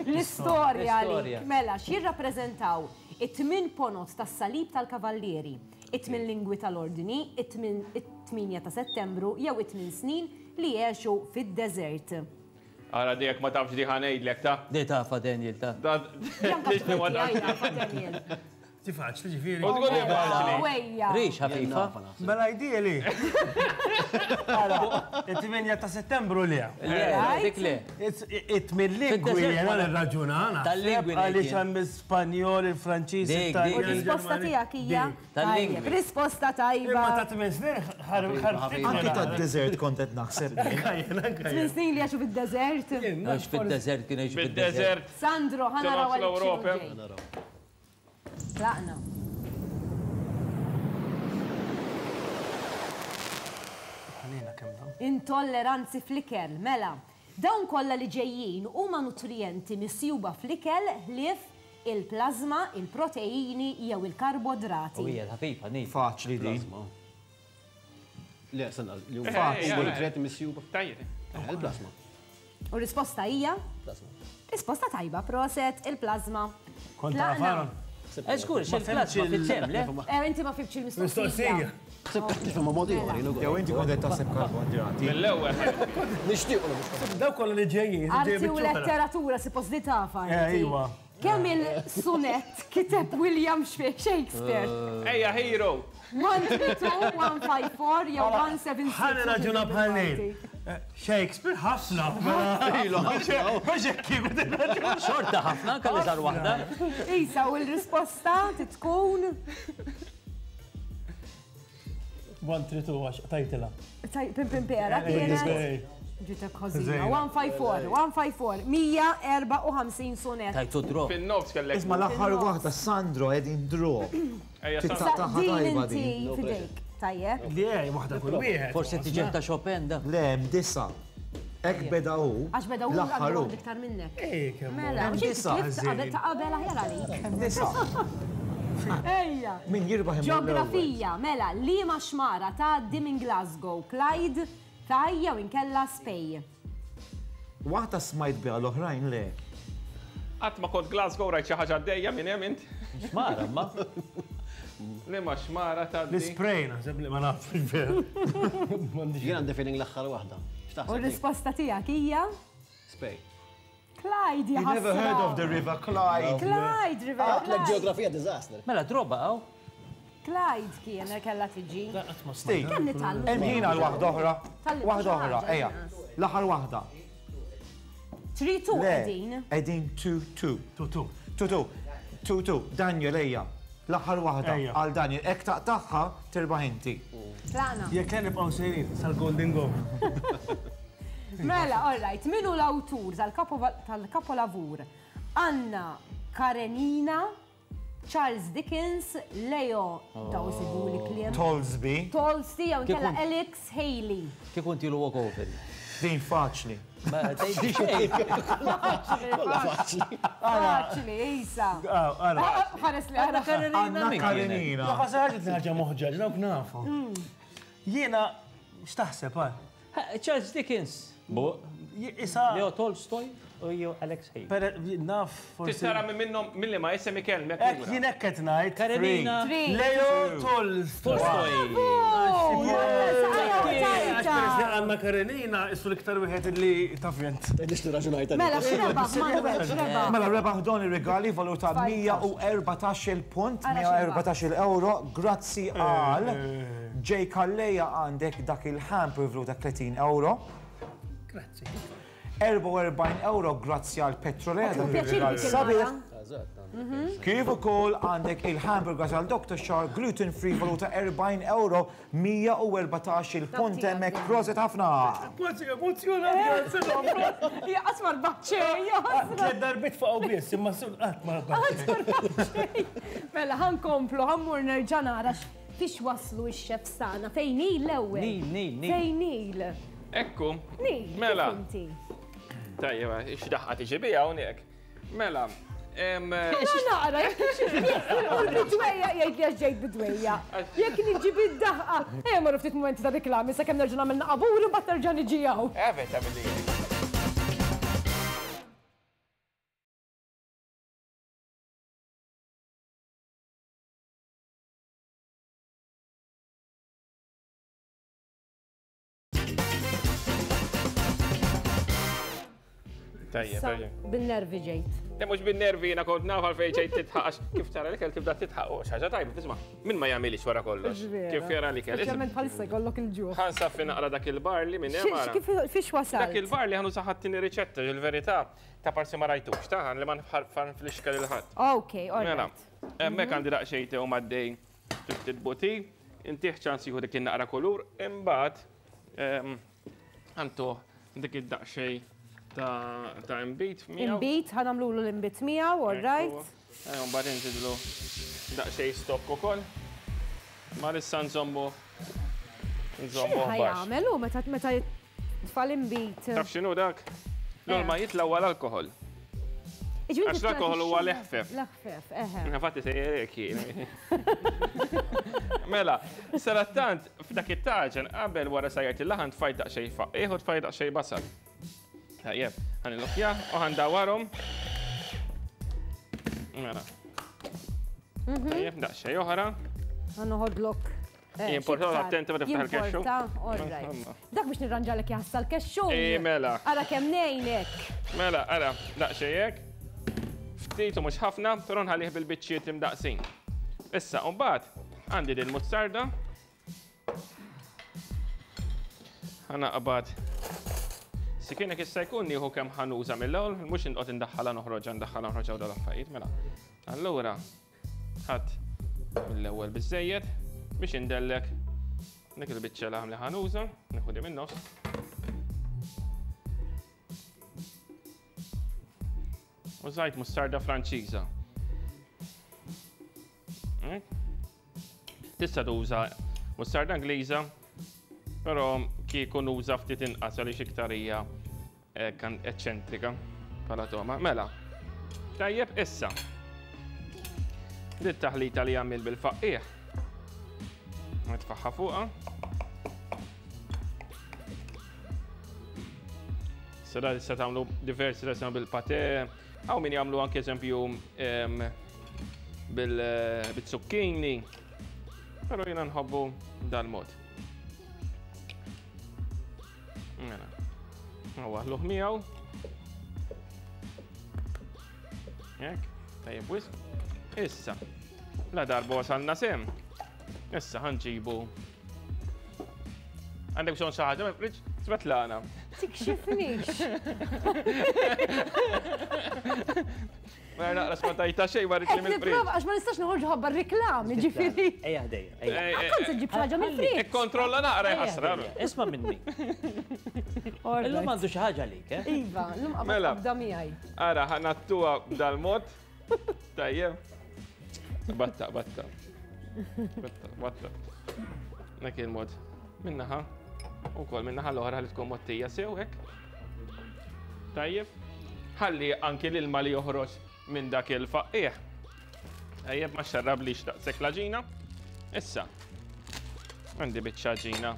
L-istorja għalik. Mela, x'jirrappreżentaw it-tmien ponot tas-salib tal-kavallieri, it-tmien lingwi tal-ordni, it-tminja ta' Settembru jew it-tmien snin li jgħixu fid-deżert. Ara dijek ma tafx di ħanejdlek ta' Di tafa Daniel ta' Bianca tafa Daniel. Ti faċli ġifieri. U tqul li faċli. Wejja. Rix ħafifa. Mela ideali. Ara, it-tminja ta' Settembru le. Le, dik le. It-tmien lingwi jiena nirraġuna. Tal-lingwi. Għaliex hemm l-Ispanjol, il-Franċiż, it-Taljan. Risposta tiegħek hija. Tal-lingwi. Risposta tajba. Imma ta' tmien snin ħarftit. Anki tad-deżert kont qed naħseb. Tmien snin li għaxu fid-deżert. Għax fid-deżert kien jgħixu fid-deżert. Sandro, ħa naraw għalik. Tlaqna. Intolleranzi fl-ikel, mela. Dawn kollha li ġejjin huma nutrijenti misjuba fl-ikel ħlief il-plazma, il-proteini jew il-karbodrati. U hija ħafifa, ni. Faċli din. Le, sanna, li huma faċli nutrijenti misjuba. Tajjeb. Il-plazma. U risposta hija? Plazma. Risposta tajba, proset, il-plazma. Kont tafaron. Eskur, xil-plazma fit-tem, le? Eh, inti ma fibx il-mistoqsija. Jew inti kont qed taħseb karboidrati. Mill-ewwel. Nixtiequ. Daw kollha li ġejjin. Arti u letteratura suppost li tafa. Ejwa. Kemm il-sunet kiteb William Shakespeare? Ejja, hero. one three two, one five four jew one seven six. Ħalli raġuna bħal Neil. Shakespeare ħafna. Mhux hekk kieku tirraġuna. Xorta ħafna, kelli żar waħda. Isa, u l-risposta titkun one three two għax tajtila. Pim pim pera kienet. Ġitek ħażina. one five four, one five four, mija erba' u ħamsin sunet. Tajtu draw. Fin-nofs kellek. Isma' l-aħħar waħda Sandro qegħdin draw. Titaqtaħ Din tajba inti din. fidejk. Tajjeb. Le, waħda kull wieħed. Forsi tiġi ta' Chopin da. Le, hemm disa. Hekk beda hu. Għax beda hu L-aħħar hu. għandu iktar minnek. Ej, kemm. Mela, Hemm u xi disa, tlift qabel ta' qabel aħjar għalik. Disa. Ejja. Min jirbaħ imur l-ewwel. Ġeografija, mela, liema xmara tgħaddi minn Glasgow, Clyde, Tay jew inkella Spey. Waħda smajt biha l-oħrajn le. Qatt ma kont Glasgow rajt xi ħaġa għaddejja minn hemm int. Xmara, ma. Liema xmara tgħaddi. L-ispray naħseb li ma nafx veru. Jien għandi feeling l-aħħar waħda. U X'taħseb? r-risposta tiegħek hija Spej. Clyde, You never heard of the River Clyde. Clyde, River Għatlek Clyde. ġeografija disaster. Mela droba għaw. Clyde kien kellha tiġi. Steve, Kemm nitgħallmu? hemm ħin għal waħda oħra. Tgħallimtu Waħda xi oħra, ħaġa, ejja. L-aħħar waħda. three two Le, qegħdin. qegħdin two two. two two. two two. two two. Daniel ejja. L-aħħar waħda Ejja. għal Daniel. Hekk taqtaħħa tirbaħ inti. Tlaqna. Jekk le nibqgħu sejrin sal-Golden Goal. Mela, all right, min hu l-awtur tal-kapolavur? Anna Karenina, Charles Dickens, Leo, daw isibu li kliem. Tolsby. Tolsby, jew inkella Kif Alex Haley. Kif inti l walk over. Din faċli. Ma tgħidli xejn. Kollha faċli. Faċli, Isa. Ara. Ħares li ara. Karenina Anna min kienet? Karenina. Ħasa ħaġa ħaġa moħġaġ, dawk nafu. Jiena x'taħseb għal? Ha, Charles Dickens. Bu. Isa. Leo Tolstoy u jew Alex Haley. Per naf forsi. Tistara minn minnhom milli ma isem ikellmek. Hekk jien hekk qed ngħid. Karenina. Three. Leo Tolstoy. Tolstoy. Għax Anna Karenina issu l-iktar wieħed li taf jent. Tgħidlix li raġunajt Mela, x'rebaħ, Manuel, x'rebaħ? Mela rebaħ don ir-regali valuta mija u erbatax-il punt, Ara mija u erbatax-il euro, grazzi għal Jay Calleja għandek dak il-hamper valuta tletin euro. Grazzi. erbgħa u erbgħin euro grazzi għal Petrolea. Sabiħ. Kif ukoll għandek il-hamburger għal Doctor Schär gluten free valuta erbgħin euro mija u erbatax il-punt hemmhekk. Proset ħafna. Kważi emozjonat, grazzi. Hija qatt ma rbaħt xejn. Tliet darbiet faqgħu biss, imma qatt ma rbaħt xejn. Mela ħa nkomplu, ħa mmur nerġa' nara fiex waslu x-chefs tagħna. Fejn il l-ewwel? Nil, nil, nil. Fejn il? Ekku. Nil. Mela. Tajjeb, x'daħqa tiġi biha hawnhekk. Mela. Mela naqra, jekk bidwejja, jgħid li għax ġejt bidwejja. Jekk niġi bid-daħqa, ejja morru ftit mumenti ta' reklami sakemm nerġa' nagħmel naqabur u mbagħad nerġa' niġi hawn. Evet, tagħmel. Tajjeb, tajjeb. Bin-nervi ġejt. Le mhux bin-nervi, jiena kont naf għalfejn ġejt titħaq, kif tara l-ikel tibda titħaq, u xi ħaġa tajba, tisma' min ma jagħmilix wara kollox. Kif jara l-ikel. Speċjalment bħalissa jkollok il-ġuħ. Ħa nsaffi naqra dak il-barli minn hemm. Kif fiex wasal? Dak il-barli ħa nuża ħadd tieni riċetta, il-verità ta' parsi ma rajtux, ta' li ma nflixka lil ħadd. Ok, all right. Hemmhekk għandi daqsxejn tew maddej ftit buti, intih ċans jieħu dik in-naqra kulur, imbagħad għantuh dik id-daqsxejn ta' imbit miegħu. Imbit, ħa nagħmlulu l-imbit miegħu, all right. Mbagħad inżidlu daqsxejn stokk ukoll. Ma issa nżommu nżommu baxx. Jagħmel hu meta meta tfal imbit. Taf x'inhu dak? L-ilma jitla' huwa l-alkoħol. Għax l-alkoħol huwa l-eħfef. L-eħfef, eħe. Infatti se jgħek jien. Mela, sarattant f'dak it-taġen qabel wara sajjart il-laħan tfajt daqsxejn faqih u tfajt daqsxejn basal. Tajjeb, ħa nillokkja u ħa ndawwarhom. Mela. Tajjeb, daqsxejn oħra. Ħa noħodlok. Jimporta attenti ma tiftaħ il-kexxu. All right. Dak biex nirranġalek jaħsal kexxu. Ej, mela. Ara kemm ngħinek. Mela, ara, daqsxejn hekk. Ftit u mhux ħafna, però nħallih bil-biċċiet imdaqsin. Issa, u mbagħad għandi din muzzarda. Ħa naqbad. Sikienek issa jkun nieħu kemm ħanuża mill-ewwel, mhux inqgħod indaħħalha noħroġha ndaħħalha noħroġha u dal-affarijiet, mela. Allura ħadd mill-ewwel biżejjed biex indellek dik il-biċċa laħam li ħanuża, nieħu di min-nofs. Użajt mustarda Franċiża. Tista' tuża mustarda Ingliża, però kieku nuża ftit inqas għaliex iktar hija eċċentrika bħala toma. Mela, tajjeb issa. Dit taħlita li għamil bil-faqqiegħ. Nitfaħħa fuqha. Sera issa tagħmlu diversi resa bil-pate, hawn min jagħmlu anke eżempju bil-zucchini. Però jiena nħobbu dal-mod. Mela. Waħluh miegħu. Hekk, tajjeb wisq. Issa, la darba wasalna sem. Issa ħa nġibu. Għandek bżonn xi ħaġa mill-friġġ? Svetlana. Tikxifnix. Ma naqra smatajta xejn ma rridx mill-friġġ. Għax ma nistax noħorġu ħabba r-reklami, ġifieri. Ejja ħdejja. Kont se ġib xi ħaġa mill-friġġ. Ikkontrolla naqra jħassra. Isma' minni. Illum għandu xi ħaġa għalik, eh? Iva, llum qabad qabda miegħi. Ara, ħa nattuha b'dal-mod. Tajjeb. Batta, batta. Batta, batta. Dak il-mod. Minnaħa. Ukoll minnaħa l-oħra li tkun mottija sew hekk. Tajjeb. Ħalli anki l-ilma li joħroġ minn dak il-faqqiegħ. Tajjeb, ma xarrablix daqshekk l-għaġina. Issa, għandi biċċa għaġina.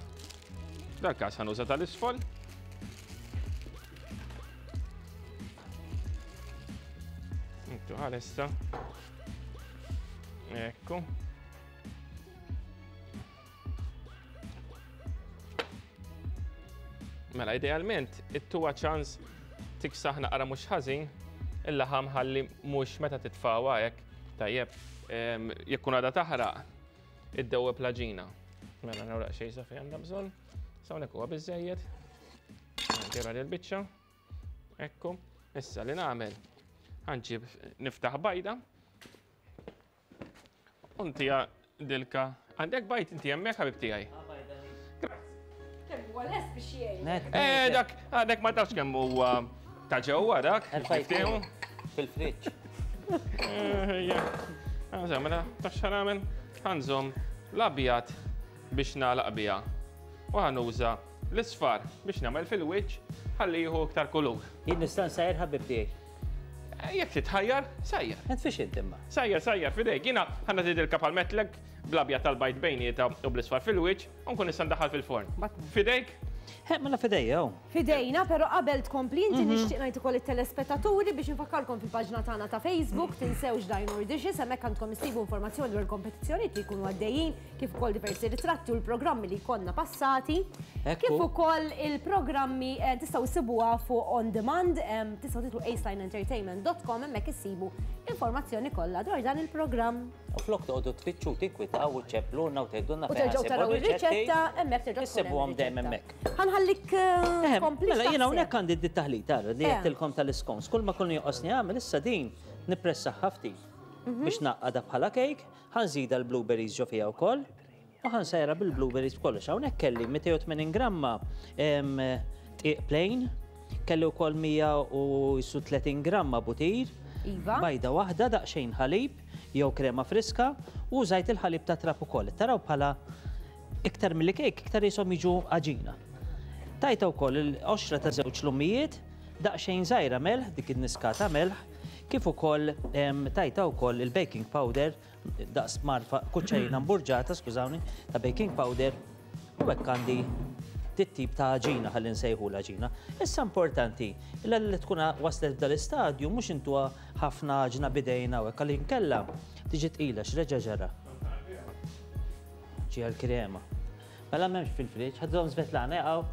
Dal-każ ħa nuża tal-isfol. Intu ħalissa. Ekku. Mela, idealment, it-tuwa ċans tiksaħ naqra mhux ħażin, il-laħam ħalli mhux meta titfawha hekk, tajjeb, jekk kun għadha taħraq, iddewweb l-għaġina. Mela nagħraq xejn sa fejn għandha bżonn. Sa hawnhekk huwa biżejjed. Nagħtira l-biċċa. Ekku, issa li nagħmel ħa nġib niftaħ bajda. U ntiha dilka. Għandek bajd inti hemmhekk ħabib tiegħi. Kemm huwa lest biex jgħin. Eh, dak, għadek ma tafx kemm huwa ta' ġewwa dak. Erfajtu. Fil-friġġ. Għaża, mela, taf x'ħa nagħmel? Ħa nżomm l-abjad biex nagħlaq biha. U ħa nuża l-isfar biex nagħmel fil-wiċċ ħalli jieħu iktar kulur. Jien nista' nsajjar ħabib tiegħi. Jekk titħajjar, sajjar. Int fiex int imma. Sajjar, sajjar, fidejk. Jiena ħa nagħti dilka bħal-metlek bl-abjad tal-bajd bejnietha u bl-isfar fil-wiċċ u nkun nista' ndaħħal fil-forn. Fidejk? He, mela fidejja. Fidejna, però qabel tkompli inti nixtieq ngħid ukoll it-telespettaturi biex infakkarkom fil-paġna tagħna ta' Facebook, tinsewx Dine Dishes, hemmhekk għandkom issibu informazzjoni dwar kompetizzjonijiet li jkunu għaddejjin, kif ukoll diversi ritratti u l-programmi li jkollna passati, kif ukoll il-programmi tistgħu issibuha fuq on demand, tistgħu titlu aceline entertainment dot com hemmhekk issibu informazzjoni kollha dwar dan il-programm. U flok toqgħodu tfittxu tinkwitaw u ċċeplulna u tgħidulna U terġgħu taraw ir-riċetta hemmhekk terġgħu issibuhom dejjem hemmhekk. Ħa nħallik kompli. Mela jiena hawnhekk għandi d-taħlita li għedtilkom tal-iscones. Kull ma kullu joqosni għamel issa din nippressaħħa ftit biex naqqadha bħala cake, ħa nżidha l-blueberries ġo fiha wkoll u ħa nsajra bil-blueberries b'kollox. Hawnhekk kelli mitejn u tmenin gramma dqiq plain, kelli wkoll mija u tletin gramma butir, bajda waħda, daqsxejn ħalib jew krema friska u użajt il-ħalib ta' trab ukoll. Taraw bħala iktar milli cake, iktar jisom jiġu għaġina. Tajta wkoll il-qoxra ta' żewġ lumijiet, daqsxejn żgħira melħ, dik in-niskata melħ, kif ukoll tajta wkoll il-baking powder, daqs marfa kuċċajna mburġata, skużawni, ta' baking powder, u hekk għandi dit-tip ta' għaġina ħalli nsejħu l-għaġina. Issa importanti, illa li tkun waslet f'dal-istadju mhux intuha ħafna għaġna bidejna u hekk għalli nkella tiġi tqila x'reġa' ġara. Ġi għall-krema. Mela m'hemmx fil-friġġ, ħadhom Svetlana jaqgħu.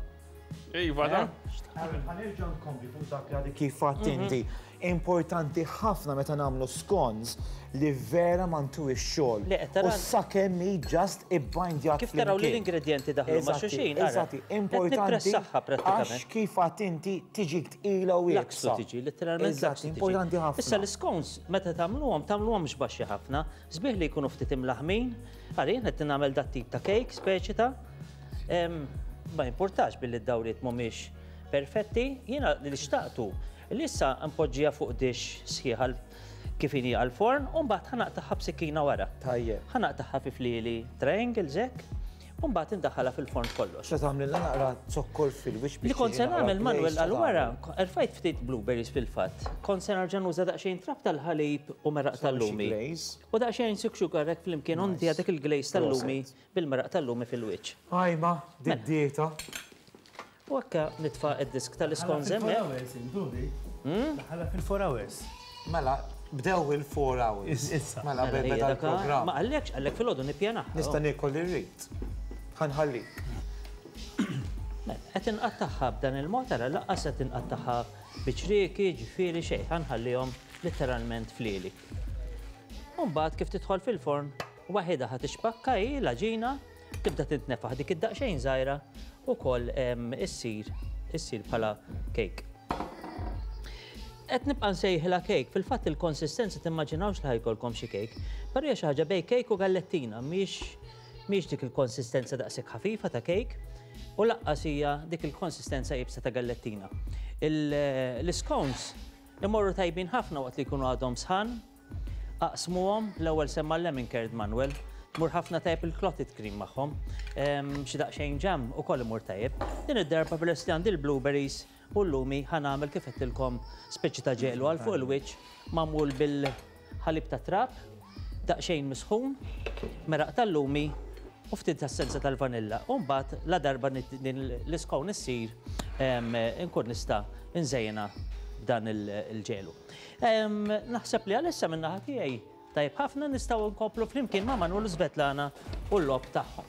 Iva, da. Ħa nerġa' nkompli fuq dak li għadek kif għedt inti. Importanti ħafna meta nagħmlu scones li vera ma ntuwix xogħol. U sakemm hi just ibbindjat. Kif taraw li l-ingredjenti daħlu ma' xulxin. Eżatti, importanti. Għax kif għedt inti tiġi tqila u iebsa. Tiġi, letteralment. Eżatti, importanti ħafna. Issa l-scones meta tagħmluhom tagħmluhomx baxxi ħafna, sbieħ li jkunu ftit imlaħmin. Ara jien qed nagħmel dat tip ta' cake speċi ta' ma importax billi d-dawriet mhumiex perfetti, jiena li xtaqtu li issa npoġġiha fuq dish sħiħa kif inhi għall-forn u mbagħad ħa naqtagħha b'sikkina wara. Tajjeb. Ħa naqtagħha fi flieli triangles hekk u mbagħad indaħħalha fil-forn kollox. Se tagħmlilna naqra zokkor fil-wiċċ biex Li kont se nagħmel Manuel għal wara, erfajt ftit blueberries fil-fatt. Kont se nerġa' nuża daqsxejn trab tal-ħalib u meraq tal-lumi. U daqsxejn sugar hekk flimkien u ntiha dik il-glaze tal-lumi bil-meraq tal-lumi fil-wiċċ. Ajma, did-dieta. U hekk nitfa' id-disk tal-iscones hemmhekk. Daħħalha fil-four hours. Mela, bdew il-four hours. Issa. Mela, beda l-programm. Ma għallekx, għallek fil-għodu nippjanaħ. Nista' niekol li rrid. Ħa nħallik. Mela, qed inqattagħha b'dan il-mod ara laqqas qed inqattagħha biċrieki, ġifieri xejn, ħa nħallihom letteralment flieli. U mbagħad kif tidħol fil-forn, waħedha ħa tixpakka hi l-għaġina, tibda tintnefaħ dik id-daqsxejn żgħira ukoll issir issir bħala cake. Qed nibqa' nsejħilha cake, fil-fatt il-konsistenza timmaġinawx li ħajkolkom xi cake, però hija xi ħaġa bejn cake u gallettina, mhix mhix dik il-konsistenza daqshekk ħafifa ta' cake u laqqas hija dik il-konsistenza iebsa ta' gallettina. L-scones imorru tajbin ħafna waqt li jkunu għadhom sħan, aqsmuhom, l-ewwel semma l-lemon curd Manuel, mur ħafna tajjeb il-clotted cream magħhom, xi daqsxejn ġam ukoll imur tajjeb. Din id-darba peress li għandi l-blueberries u l-lumi ħa nagħmel kif għedtilkom speċi ta' ġelu għal fuq il-wiċċ magħmul bil-ħalib ta' trab, daqsxejn misħun, meraq tal-lumi u ftit essenza tal-vanilla. U mbagħad la darba l-iscone issir inkun nista' nżejjinha b'dan il-ġelu. Naħseb li għalissa minn naħa tiegħi tajjeb ħafna nistgħu nkomplu flimkien ma' Manuel u Svetlana u l-logħob tagħhom.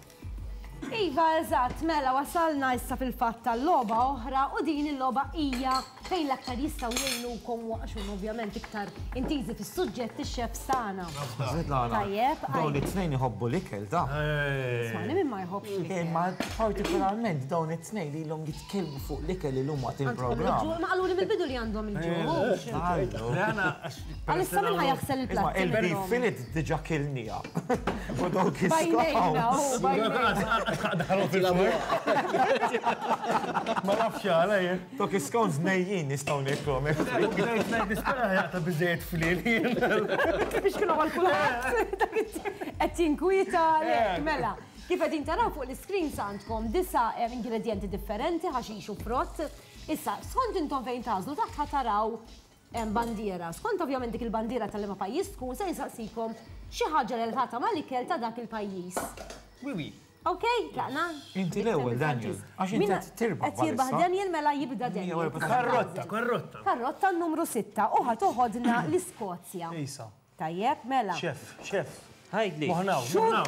Iva, eżatt, mela wasalna issa fil-fatt tal-logħba oħra u din il-logħba hija fejn l-aktar jistgħu jgħinukom waqxun ovvjament iktar intiżi fis-suġġett ix-chefs tagħna. Tajjeb. Dawn it-tnejn iħobbu l-ikel da. Ismani min ma jħobbx l-ikel. Imma partikolarment dawn it-tnejn li ilhom jitkellmu fuq l-ikel illum waqt il-programm. Ma qaluli mill-bidu li għandhom il-ġuħ. Għalissa min ħa jaħsel il-platti? Il-beef fillet diġà kilnija. U dawk is-scones. Ma nafx għala jien. Dawk is-scones nejjin nistgħu niklhom. Nispera jaqta' biżejjed flil. Biex kienu għal kulħadd. Qed jinkwieta lek mela. Kif qegħdin taraw fuq l-iscreen għandkom disa' ingredienti differenti, ħaxix u frott. Issa, skont intom fejn tażlu taħt ħa taraw bandiera. Skont ovvjament dik il-bandiera tal-liema pajjiż tkun se nsaqsikom xi ħaġa relatata mal-ikel ta' dak il-pajjiż. Oui, oui. Ok, tlaqna? Inti l-ewwel, Daniel. Għax inti qed tirbaħ. Qed jirbaħ Daniel mela jibda Daniel. Karrotta, karrotta. Karrotta numru sitta u ħa toħodna l-Iskozja. Isa. Tajjeb, mela. Chef, chef. Ħajdli. Moħnaw, moħnaw.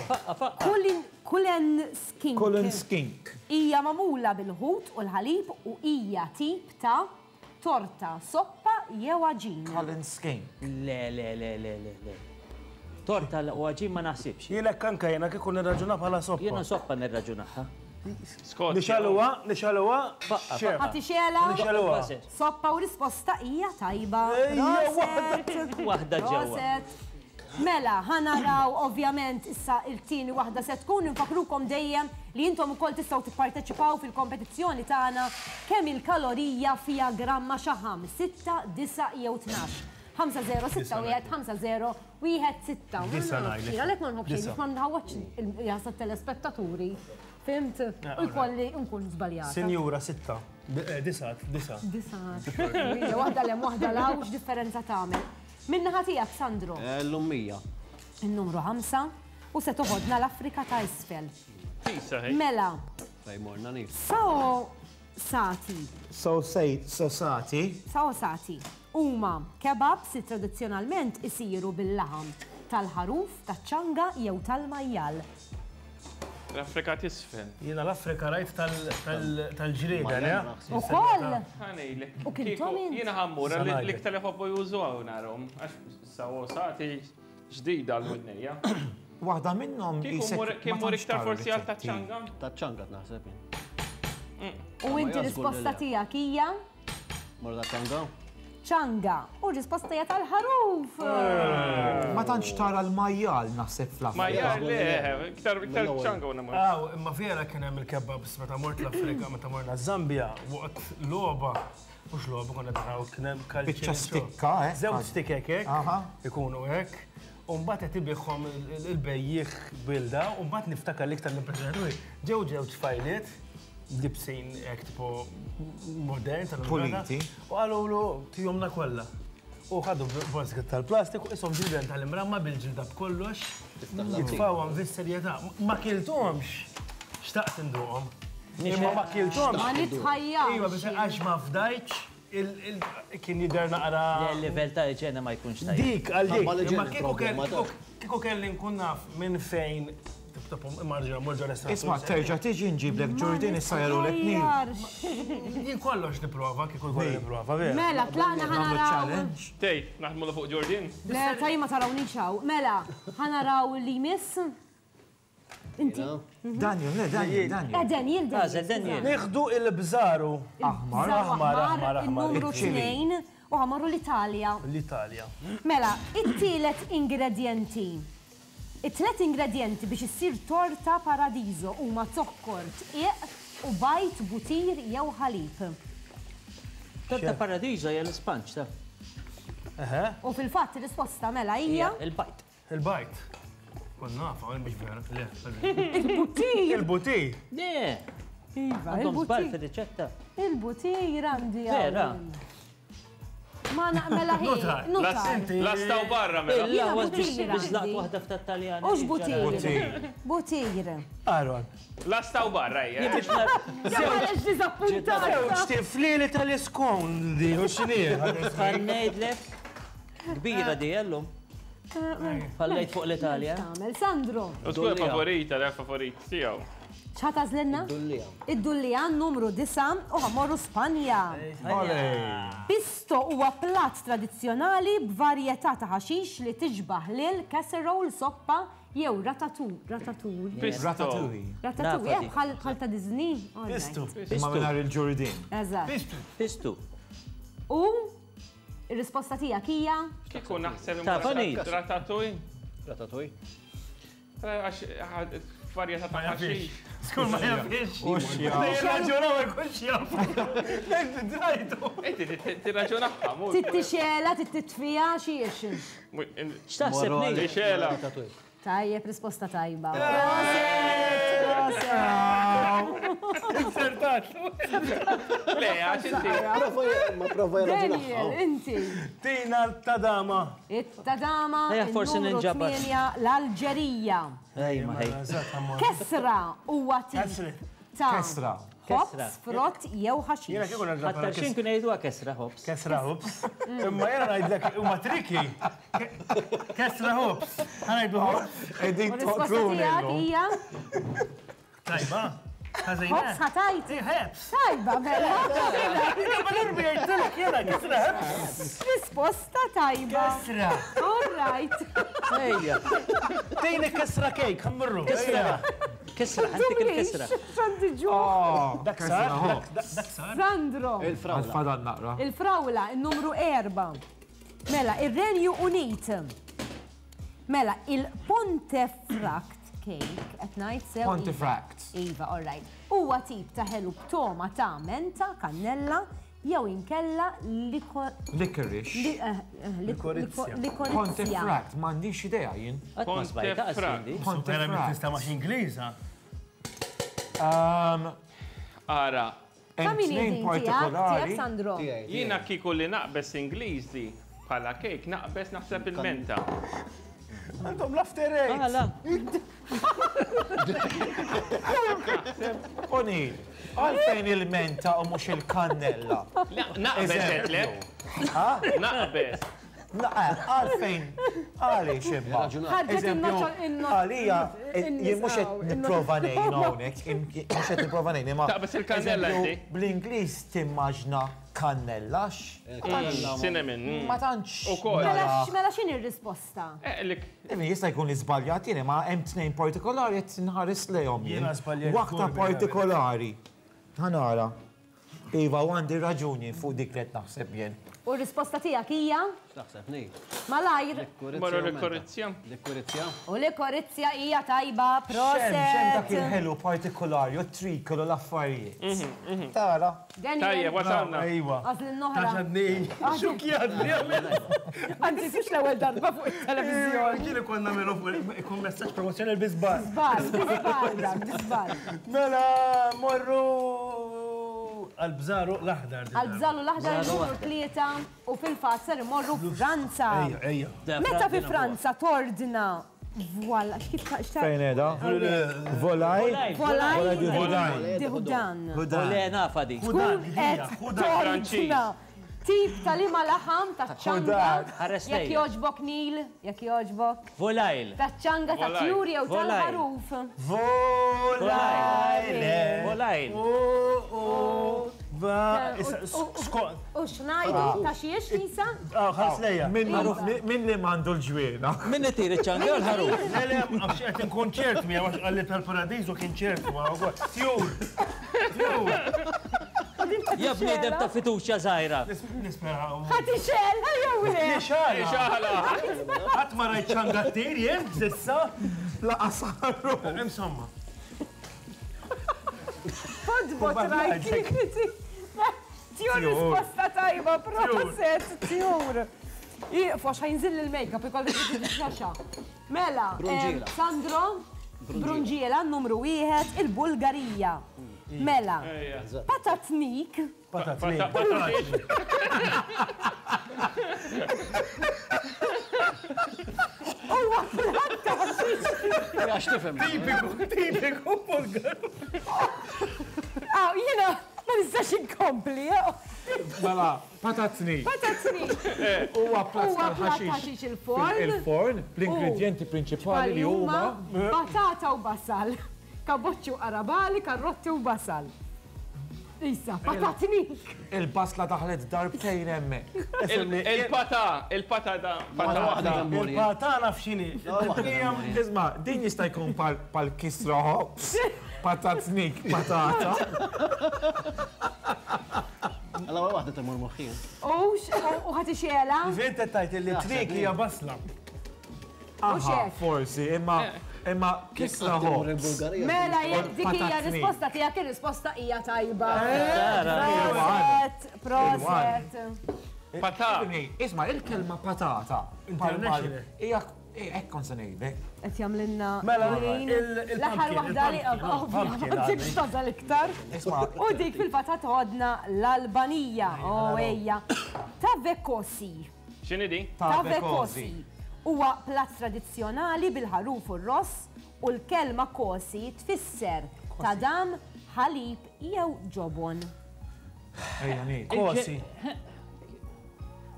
Cullen skink. Cullen skink. Hija magħmula bil-ħut u l-ħalib u hija tip ta' torta, soppa jew għaġin. Cullen skink. Le, le, le, le, le, le. Torta u għaġin ma naħsibx. Jilek anka jena kieku nirraġuna bħala soppa. Jiena soppa nirraġunaha. Nixaluha, nixaluha. Ħati xela. Nixaluha. Soppa u risposta hija tajba. Waħda ġewwa. Mela, ħa naraw ovvjament issa il-tieni waħda se tkun infakrukom dejjem li intom ukoll tistgħu tipparteċipaw fil-kompetizzjoni tagħna kemm il-kalorija fiha gramma xaħam, sitta, disa' jew tnax. ħamsa zero sitta wieħed ħamsa zero wieħed sitta. Għalhekk ma nħobbx biex ma nħawwadx il-jasa telespettaturi. Fimt? U jkolli nkun żbaljata. Sinjura sitta. Disa, disa. Disa. Waħda lem waħda law x'differenza tagħmel. Min-naħa tiegħek, Sandro. L-ummija. Il-numru ħamsa u se toħodna l-Afrika ta' isfel. Mela. Sao sati. So so sati. Sao sati. Huma kebabs li tradizzjonalment isiru bil-laħam tal-ħaruf, taċ-ċanga jew tal-majjal. L-Afrika t'isfel. Jiena l-Afrika rajt tal-ġrieda, le? Ukoll! Ħanejlek. U kien tomin? Jiena ħammur, l-iktar jħobbu jużuha narhom. Għax sawo sati ġdida l-widnejja. Waħda minnhom Kien mur iktar forsi għal taċ-ċanga? Taċ-ċanga naħseb jien. U inti risposta tiegħek hija? Mor taċ-ċanga? Ċanga. U risposta hija tal-ħaruf. Ma tantx tara l-majjal naħseb fl-Afrika. Majjal le, iktar iktar ċanga u namur. Aw, imma vera kien hemm il-kebabs meta mort l-Afrika, meta morna Zambia, waqt logħba, mhux logħba konna naraw kien hemm kalċi. Biċċa stikka, eh? Żewġ stikek hekk, ikunu hekk. U mbagħad qed ibigħhom il-bejjieħ bilda, u mbagħad niftakar l-iktar l-impressjonaturi. Ġew ġew tfajliet libsin hekk tipo modern tal-puliti. U qalulu tihomna kollha. U ħadu borżka tal-plastik u ishom ġilden tal-imramma bil-ġilda b'kollox. Jitfawhom fis-serjetà. Ma kilthomx. Xtaqt induqhom. Imma ma kilthomx. Ma nitħajjax. Iva, biex għax ma fdajtx kien jidher naqra. Il-livell ta' iġena ma jkunx tajjeb. Dik għal dik. Imma kieku kelli nkun naf minn fejn Isma, terġa' tiġi nġiblek Ġordin issa jarulek nil. Jien kollox nipprova, kieku jkolli nipprova, vera. Mela, tlaqna ħa naraw. Tej, naħdmu fuq Ġordin? Le, taj ma tarawniex hawn. Mela, ħa naraw li miss. Inti. Daniel, le, Daniel, Daniel. Eh, Daniel, Daniel. Daniel. Nieħdu il-bżaru. Aħmar, aħmar, aħmar, aħmar. Il-numru tnejn u ħamorru l-Italja. L-Italja. Mela, it-tielet ingredienti. It-tlet ingredienti biex issir torta paradiso huma zokkor, tqiq u bajt, butir jew ħalib. Torta paradiso hija l-ispanċ ta'. U fil-fatt ir-risposta mela hija il-bajt. Il-bajt. Kon nafa, mhux vera. Le. Il-butir. Il-butir. Le. Iva, il-butir. Żball fir-riċetta. Il-butir għandi. Vera. Ma naqmela ħin. Lastaw barra mela. Illa, biex laqt waħda f'tat-Taljan. Ux butir. Butir. Aaron. Lastaw barra, hija. Għalix dizappuntat. Żewġ tiflieli tal-iskon di, u x'inhi. Ngħidlek kbira di llum. Fallejt fuq l-Italja. Tagħmel Sandro. U tkun favorita, le favorit tiegħu. X'ħa tagħżlilna? Id-Dullija numru disgħa u ħa mmorru Spanja. Pisto huwa platt tradizzjonali b'varjetà ta' ħaxix li tiġbaħ lil casserole, soppa jew ratatouille. Ratatouille. Ratatouille. Ratatouille, bħal ta' Disney. Pisto. Ma mingħajr il-ġurdin. Eżatt. Pisto. U ir-risposta tiegħek hija? Kieku naħseb ratatouille. Ratatouille. Għax varjetà ta' ħaxix. Skur ma jafix. Tirraġunaw ma jkunx jaf. Drajtu. Inti tirraġunaħħa. Tittixela, tittitfija, xiex. X'taħseb li? Tixela. Tajjeb, risposta tajba. Insertat. Le, għax inti. Ma prova Daniel, inti. Tina t-tadama. It-tadama. Forsi ninġabar. L-Alġerija. Ejma, ej. Kesra huwa tip ta' Kesra. Ħobż, frott jew ħaxix. Jiena kieku nerġa' Ħatta xin kien jgħiduha kesra ħobż. Kesra ħobż. Imma jiena ngħidlek huma triki. Kesra ħobż. Ħa ngħidu ħobż. Qegħdin Risposta tiegħek hija? Tajba. Ħobż ħatajt. Ħobż. Tajba, mela. Ma nirbi jgħidlek jiena kesra ħobż. Risposta tajba. Kesra. All right. Ejja. Tejni kesra kejk, ħammurru. Kesra. Kesra, għandik il-kesra. Xandi ġuħ. Dak sar, dak sar. Sandro. Il-frawla. Għal-fadal naqra. Il-frawla, il-numru erba. Mela, il-Renju Unit. Mela, il-Pontefract cake, qed ngħid sew. Pontefract. Iva, all right. Huwa tip ta' ħelu b'toma ta' menta, kannella, jew inkella licorice. Likorizja. Pontefract, m'għandix idea jien. Qatt ma sbajta qasindi. Pontefract. Tista' max Ingliża. Ara. Ta' min hi din tiegħek, tiegħek Sandro? Jiena kieku li naqbes Ingliżi bħala kejk naqbes naħseb il-menta. Għandhom l-after eight. Għala. O'Neill, għalfejn il-menta u mhux il-kannella? Naqbes għedtlek. Naqbes. Għalfejn, għaliex imma. Ħarġet in-noċ. Għalija, jien mhux qed nipprova ngħin hawnhekk, mhux qed nipprova ngħin imma. Taqbes il-kannella inti. Bl-Ingliż timmaġna kannellax. Cinnamon. Ma tantx. Ukoll. Mela x'inhi r-risposta? Jista' jkun li żbaljat jien, ma hemm tnejn partikolari qed nħares lejhom jien. Waħda partikolari. Ħa nara. Iva, u għandi raġuni fuq dik li qed naħseb jien. U r-risposta tiegħek hija? X'taħseb ngħid? Malajr. Marru l-korizzja. L-korizzja. U l-korizzja hija tajba, proset. Xem dak il-ħelu partikolari, u trikolu l-affarijiet. Tara. Tajjeb, wasalna. Ejwa. Għażli n-noħra. Taxadni. Xukjadni. Anzi, mhux l-ewwel darba fuq it-televiżjoni. Ġieli konna nagħmlu fuq ikun messaġġ promozzjoni biżbal. Biżbal, biżbal, biżbal. Mela, morru għal-bżaru l-aħdar. Għal-bżaru l-aħdar numru tlieta u fil-fatt ser imorru Franza. Ejja, ejja. Meta fi Franza tordna voila, x'kif Fejn qiegħda? Volaj? Volaj di Houdan. Ole nafa di. Tkun qed tordna tip ta' liema laħam ta' ċanga. Jekk jogħġbok Nil, jekk jogħġbok. Volajl. Ta' ċanga ta' tjur jew tal-ħaruf. Volajl. Volajl. U x'ngħidu ta' xiex Lisa? Ħares lejja. Min li m'għandu l-ġwiena? Min itir iċ-ċanga jew l-ħaruf? Le, le, għax qed inkun ċert miegħu għax qalli tal-paradiżu kien ċert ma wkoll. Tjur. Tjur. Ja bniedem ta' fiduċja żgħira. Nispera. Ħadd ixel, jew le? Nixala. Ħadd ma rajt ċanga ttir jien s'issa. Laqas ħaruf. Insomma. Fodbot rajt. Tjur risposta tajba, proset, tjur. Iqfu għax ħajnżil il-make-up ikolli xaxa. Mela, Sandro, Brunġiela, numru wieħed, il-Bulgarija. Mela, patatnik. Patatnik. Huwa platt ta' ħaxix. Għax tifhem. Tipiku, tipiku Bulgaru. Ah, jiena ma nistax inkompli. Mela, patatni. Patatni. Huwa platt tal-ħaxix il-forn. Il-forn, l-ingredienti prinċipali li huma patata u basal. Kaboċċi u qarabali, karrotti u basal. Issa, patatnik. Il-basla daħlet darbtejn hemmhekk. Il-pata, il-pata da. Il-pata naf x'inhi. Isma', din jista' jkun pal kisra ħobż, patatnik, patata. Alla waħda tmur moħħi. U ħadd ixela? Ġifieri tajt li trik hija basla. Aha, forsi, imma imma kisra ħobż. Mela jekk dik hija risposta tiegħek, ir-risposta hija tajba. Proset, proset. Patata. Isma', il-kelma patata. International. Hija hekk kont se ngħidlek. Qed jagħmlilna Mela, l-aħħar waħda li m'għandekx tażal iktar. U dik fil-patata għodna l-Albanija. Oh ejja. Tavekosi. X'inhi di? Tavekosi. Huwa platt tradizzjonali bil-ħaruf u r-ross u l-kelma kosi tfisser tadam, ħalib jew ġobon. Kosi.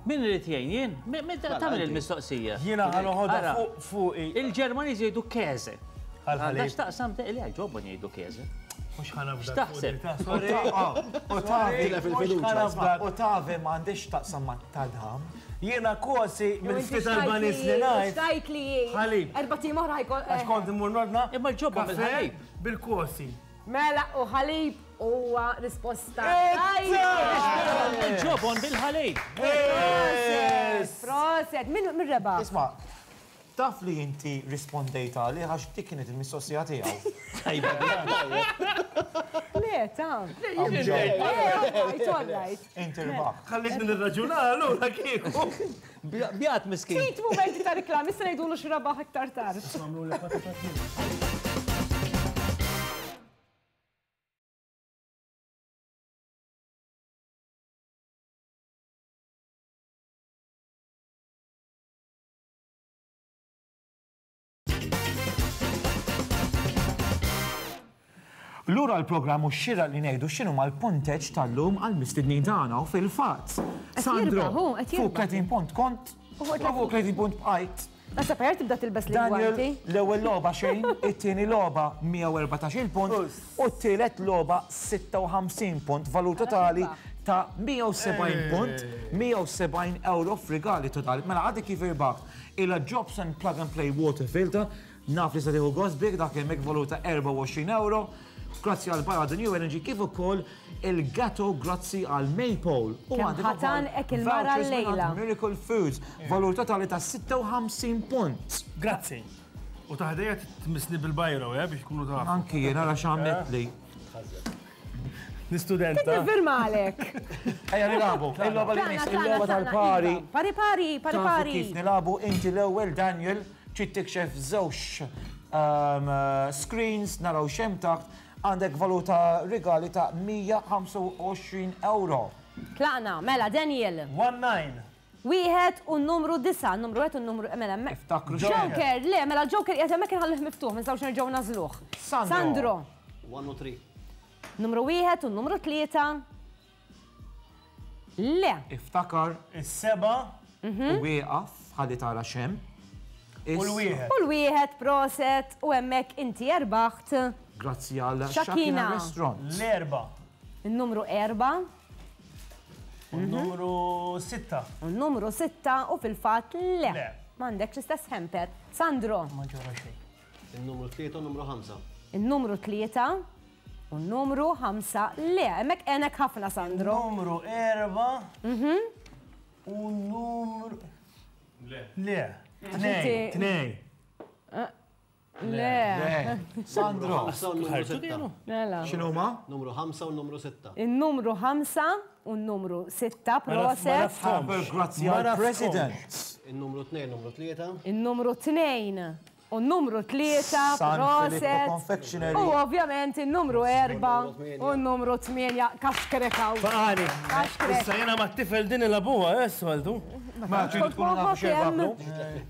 Min irid jgħin jien? Tagħmel il-mistoqsija. Jiena ħa noħodha fuq. Il-Ġermaniż jgħidu käse. Għandha x'taqsam li għal ġobon jgħidu käse. Mhux ħa nafda. X'taħseb? U tavi u tavi m'għandix taqsam ma' tadam. Jiena kosi mill-ftit Albaniż li ngħid. Xtajt li ħalib. Erba' tim oħra ħajkol. Għax kont immur nordna. Imma l-ġobon bil-ħalib. Bil-kosi. Mela u ħalib huwa risposta. Il-ġobon bil-ħalib. Proset, proset. Min rebaħ? Isma', taf li inti rispondejt għalih għax dik kienet il-mistoqsija tiegħu. Le, ta' Inti rbaħ. Ħallikni nirraġuna allura kieku. Bjat miskin. Ftit mumenti ta' reklami, issa ngħidulu x'rabaħ iktar tard. Lura l-programm u xira li ngħidu x'inhu mal-punteġġ tal-lum għall-mistednin tagħna u fil-fatt. Sandro, fuq tletin punt kont, u fuq tletin punt bqajt. Nasa per tibda tilbes l-gwanti. L-ewwel logħba xejn, it-tieni logħba mija u erbatax-il punt u t-tielet logħba sitta u ħamsin punt, valur totali ta' mija u sebgħin punt, mija u sebgħin euro f'rigali totali. Mela għadek kif irbaħt ila Jobson Plug and Play Water Filter, naf li se tieħu gost bik dak hemmhekk valur ta' erbgħa u għoxrin euro. Grazzi għal Barra The New Energy kif ukoll il-gatto grazzi għal Maypole. U Kemm ħatan hekk il-mara l-lejla. Miracle Foods, valur totali ta' sitta u ħamsin punt. Grazzi. U taħdejja tmissni bil-bajro, eh, biex kunu tafu. Anki jien ara x'għamlet li. L-istudenta. Nifirmalek. Ejja nilagħbu. Il-logħba li miss, il-logħba tal-pari. Pari pari, pari pari. Kif nilagħbu inti l-ewwel Daniel trid tikxef żewġ screens naraw x'hemm taħt. Għandek valuta rigali ta' mija u ħamsa u għoxrin euro. Tlaqna, mela, Daniel. one nine. Wieħed u numru disa, numru wieħed u numru, mela, Iftakru Joker, le, mela Joker qiegħed hemmhekk inħallih miftuħ, ma nistgħux nerġgħu nażluh. Sandro. one u three. Numru wieħed u numru tlieta. Le. Iftakar. Is-seba. U wieqaf ħalli tara x'hemm. U l-wieħed. U l-wieħed, proset, u hemmhekk inti erbaħt. Grazzi għal Shakina Shakina Restaurant. L-erba. Il-numru erba. U n-numru sitta. U n-numru sitta u fil-fatt le. Le. M'għandekx l-istess hamper. Sandro. Ma ġara xejn. Il-numru tlieta u n-numru ħamsa. Il-numru tlieta u n-numru ħamsa le. Hemmhekk għenek ħafna, Sandro. Numru erba. U n-numru. Le. Le. Tnej. Tnej. Le. Sandro. Ħamsa u n-numru sitta. Mela. X'inhuma? Numru ħamsa u n-numru sitta. Il-numru ħamsa u n-numru sitta, proset. Grazzi għal President. Il-numru tnejn, numru tlieta. Il-numru tnejn u n-numru tlieta, proset. Confectionery. U ovvjament il-numru erba u n-numru tmienja, kaxkrekaw. Faqani. Kaxkrek. Issa jena ma t-tifel din il-abuha, eh, soltu. Ma tridu tkunu nafu x'irbaħlu.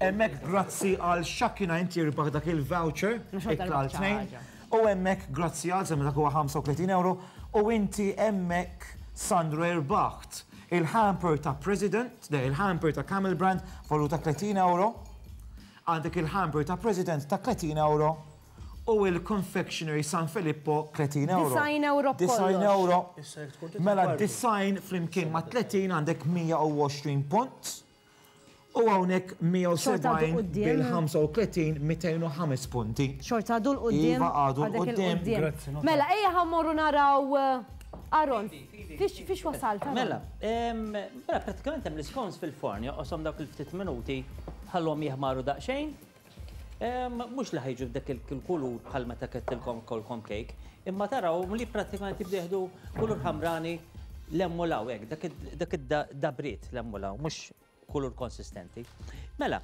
Hemmhekk grazzi għal Shakina inti irbaħ dak il-voucher, ikla għal tnejn. U hemmhekk grazzi għal semmi dak huwa ħamsa u tletin euro u inti hemmhekk Sandro irbaħt il-hamper ta' President, le, il-hamper ta' Camel Brand valuta tletin euro. Għandek il-hamper ta' President ta' tletin euro U il-Confectionery San Filippo tletin euro. Design euro Design euro. Mela design flimkien ma' tletin għandek mija u għoxrin punt. U hawnhekk mija u sebgħin bil-ħamsa u tletin mitejn u ħames punti. Xorta għadu l-qudiem. Iva għadu l-qudiem. Mela, ejja ħammorru naraw Aaron, fiex wasalt? Mela, mela pratikament hemm l-scones fil-forn, joqoshom dawk il-ftit minuti ħallhom jeħmaru daqsxejn. Mhux li ħajġu b'dak il-kulur bħal meta kettilkom kolkom cake, imma taraw li pratikament jibdew jieħdu kulur ħamrani l-emmulaw hekk, dak id-dabriet l-emmulaw, mhux kulur konsistenti. Mela,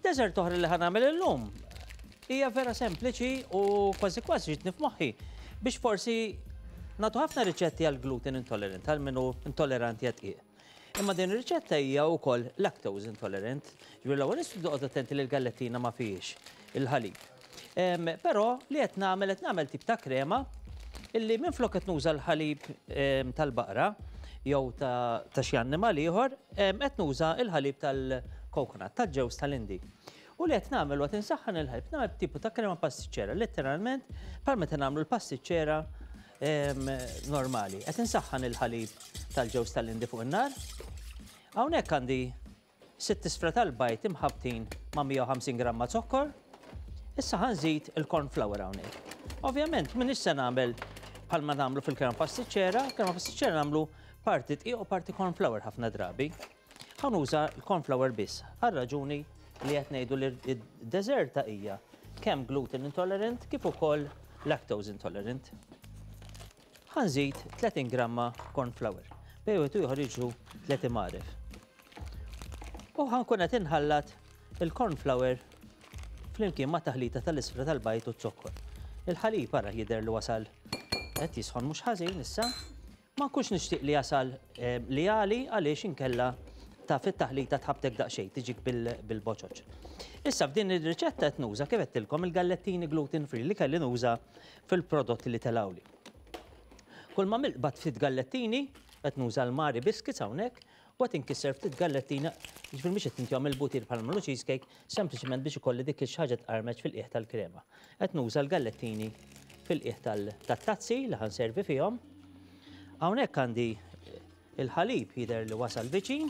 desert oħra li ħanagħmel illum hija vera sempliċi u kważi kważi ġitni f'moħħi biex forsi nagħtu ħafna riċetti għal gluten intolerant, għal min hu intolleranti għad-dqiq. Imma din ir-riċetta hija wkoll lactose intolerant. Ġifieri l-ewwel nistgħu toqgħod attenti li l-gallettina ma fihiex il-ħalib. Però li qed nagħmel qed nagħmel tip ta' krema illi minflok qed nuża l-ħalib tal-baqra jew ta' xi annimal ieħor, qed nuża l-ħalib tal-coconut, tal-ġewż tal-Indi. U li qed nagħmel waqt insaħħan il-ħalib nagħmel tipu ta' krema pastiċċera, letteralment bħal meta nagħmlu l-pastiċċera normali. Qed insaħħan il-ħalib tal-ġewż tal-Indi fuq in-nar. Hawnhekk għandi sitt isfra tal-bajt imħabtin ma' mija u ħamsin gramma zokkor. Issa ħanżid il-corn flour hawnhekk. Ovvjament m'iniex se nagħmel bħalma nagħmlu fil-krema pastiċċera, krema pastiċċera nagħmlu parti dqiq u parti corn flour ħafna drabi. Ħa nuża l-corn flour biss għal raġuni li qed ngħidu li d-deżerta hija kemm gluten intolerant kif ukoll lactose intolerant. Ħanżid tletin gramma corn flour. Bejn wieħed u ieħor jiġu tliet imgħaref. U ħankun qed inħallat il-corn flour flimkien ma' taħlita tal-isfra tal-bajt u z-zokkor. Il-ħalib ara jidher li wasal qed jisħon mhux ħażin issa. Ma nkunx nixtieq li jasal li għali għaliex inkella ta' fit-taħlita tħabtek daqsxejn tiġik bil-boċoċ. Issa f'din ir-riċetta qed nuża kif għedtilkom il-gallettini gluten free li kelli nuża fil-prodotti li telawli. Kull ma milqbad ftit gallettini, qed nuża l-Mari biscuits hawnhekk, u qed inkisser ftit gallettina, jiġifieri mhix qed intihom il-butir bħal nagħmlu cheesecake, sempliċement biex ikolli dik xi ħaġa tqarmeġ fil-qiegħ tal-krema. Qed nuża l-gallettini fil-qiegħ tat-tazzi li ħanservi fihom. Hawnhekk għandi il-ħalib jidher li wasal viċin.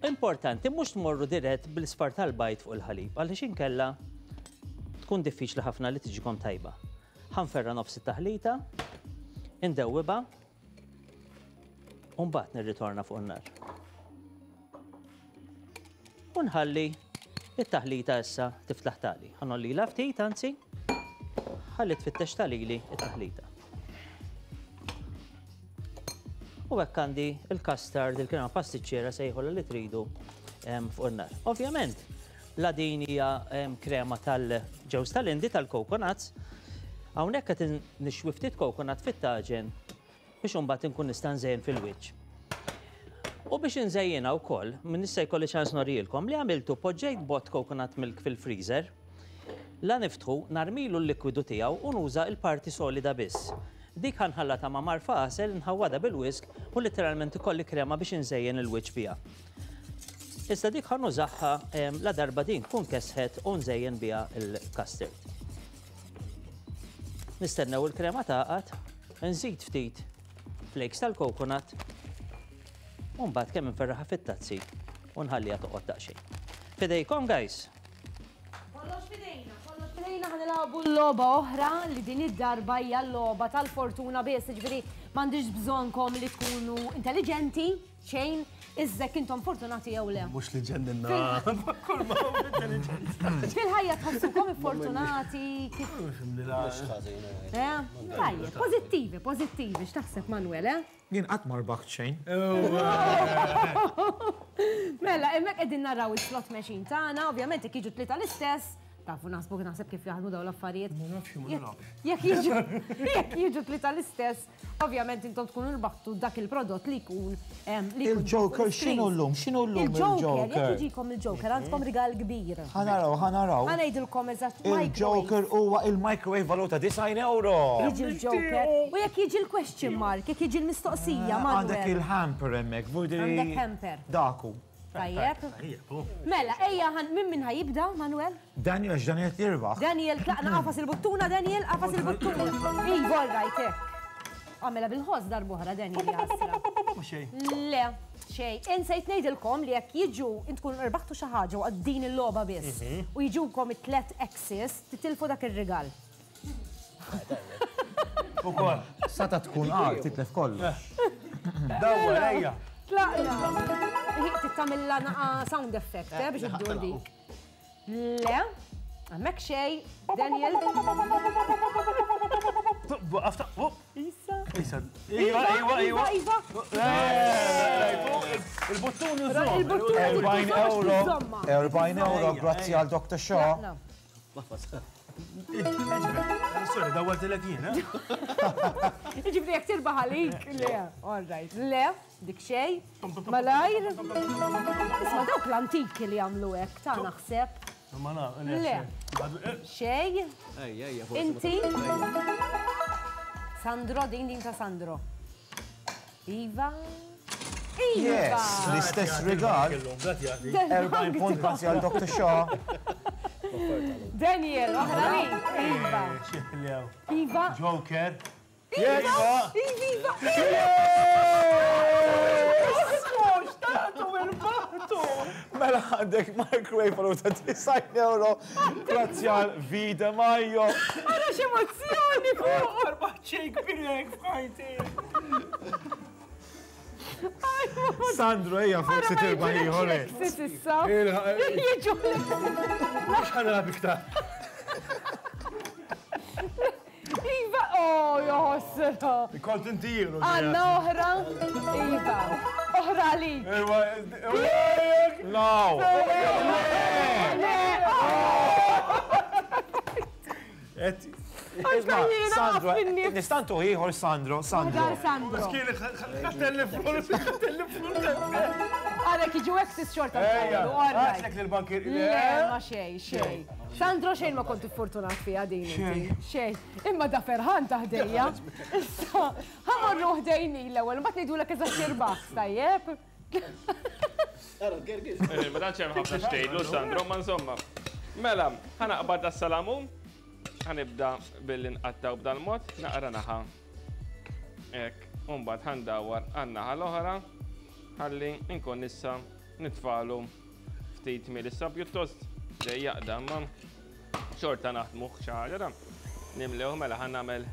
Importanti mhux tmorru dirett bil-isfar tal-bajt fuq il-ħalib, għaliex inkella tkun diffiċli ħafna li tiġikom tajba. Ħanferra nofs it-taħlita, indewwiba, u mbagħad nirritorna fuq in-nar. U nħalli it-taħlita issa tiflaħ tali. Ħanollilha ftit, anzi, ħalli tfittex talili it-taħlita. U hekk għandi il-custard, il-krema pastiċċera sejħola li tridu fuq in-nar. Ovvjament, la din hija krema tal-ġewż tal-Indi tal-coconuts. Hawnhekk qed nixwi ftit coconut fit-taġen biex imbagħad inkun nista' nżejjen fil-wiċċ. U biex inżejjinha wkoll, min issa jkolli ċans norijilkom li għamiltu poġġejt bot coconut milk fil-freezer, la niftħu narmilu l-likwidu tiegħu u nuża l-parti solida biss. Dik ħanħallata ma' marfa għasel, nħawwadha bil-whisk u letteralment ikolli krema biex inżejjen il-wiċċ biha. Issa dik ħanużaha la darba din tkun kesħet u nżejjen biha il-custard. Nistennew il-krema taqgħad, nżid ftit flakes tal-coconut u mbagħad kemm inferraħha fit-tazzi u nħalliha toqgħod daqsxejn. Fidejkom guys. Kollox fidejna, kollox fidejna ħa nilagħbu l-logħba oħra li din id-darba hija l-logħba tal-fortuna biss, jiġifieri m'għandix bżonnkom li tkunu intelligenti xejn, iżda intom fortunati jew le. Mhux li ġenninna. Kull ma hu intelligenti. Fil-ħajja tħossukom iffortunati kif. Mhux ħażin. Eh? Tajjeb, pożittivi, pożittivi, x'taħseb Manuel, eh? Jien qatt ma rbaħt xejn. Mela, hemmhekk qegħdin naraw is-slot machine tagħna, ovvjament jekk jiġu tlieta l-istess, tafu naħsbu naħseb kif jaħdmu dawn l-affarijiet. Ma nafx ma nilgħabx. Jekk jiġu jekk jiġu tlieta l-istess, ovvjament intom tkunu rbaħtu dak il-prodott li jkun li jkun Il-Joker x'inhu llum? X'inhu llum Il-Joker, jekk il-Joker? jiġikom il-Joker, għandkom rigal kbir. Ħa naraw, ħa naraw. Ħa ngħidilkom eżatt Il-Joker huwa il-microwave valuta disgħin euro. Jiġi il-Joker u jekk jiġi l-question mark, jekk jiġi l-mistoqsija, Għandek Manuel. il-hamper hemmhekk, vudri. Għandek hamper. Daku. Tajjeb. Mela, ejja, minn min ħajibda, Manuel? Daniel, Daniel jirbaħ. Daniel, tlaqna qafas il-buttuna, Daniel, qafas il-buttuna. Iva, all right, hekk. Għamela bil-ħoss darb'oħra, Daniel, jasra. Le, xej. Insejt ngħidilkom li jekk jiġu intkun irbaħtu xi ħaġa waqt din il-logħba biss u jiġukom it-tlet X's, titilfu dak ir-rigal. Ukoll. Sata tkun għar, titlef kollu. Dawwa, ejja. Tlaqna. Tittamilla naqa sound effect, eh, biex iddur dik. Le, hemmhekk xej, Daniel. Issa. Issa. Iva, iva, iva. Iva. Il-buttun iżomm. Il-buttun erbgħin euro. erbgħin euro, grazzi għal Doctor Shaw. Sorry, dawwartilek jien, eh? Jiġifieri jekk tirbaħ għalik, le, all right. Le, dik xej, malajr. Isma' dawk l-antiki li jagħmlu hekk, ta' naħseb. Le. Xej. Inti. Sandro, din din ta' Sandro. Iva. Yes, l-istess rigal. erbgħin punt grazzi għal Doctor Shaw. Daniel, oħra li. Iva. Iva. Joker. Iva. Iva. Mela għandek microwave għal ta' disgħin euro grazzi għal Vida Majo. Ara x'emozzjoni fuq. Arbaħ xejn kbir f'ħajti. Sandro, ejja forsi tirbaħ ieħor. Issa. Jiġu. Mhux ħanilgħab iktar. Iva, oh, joħosra. Kont intiru. Għandna oħra. Iva. Oħra għalik. No. Sandro, nistantu ieħor Sandro, Sandro. Sandro. Għalek iġu exis xorta. Għatlek l-bankir. Le, ma xej, xej. Sandro xejn ma kont fortunat fija din inti. Xejn. Imma da ferħan taħdejja. Issa, ħamorru ħdejni l-ewwel, mbagħad ngħidulek eżatt x'irbaħ, tajjeb? Ma tantx hemm ħafna xtejlu Sandro, ma insomma. Mela, ħanaqbad das-salamun. Ħanibda billi nqattaw b'dal-mod, naqra naħa. Hekk, u mbagħad ħandawar għan-naħa l-oħra ħalli nkun issa nitfalu ftit miel issa pjuttost dejjaq ma xorta naħdmu xi ħaġa da. Nimlew mela ħa nagħmel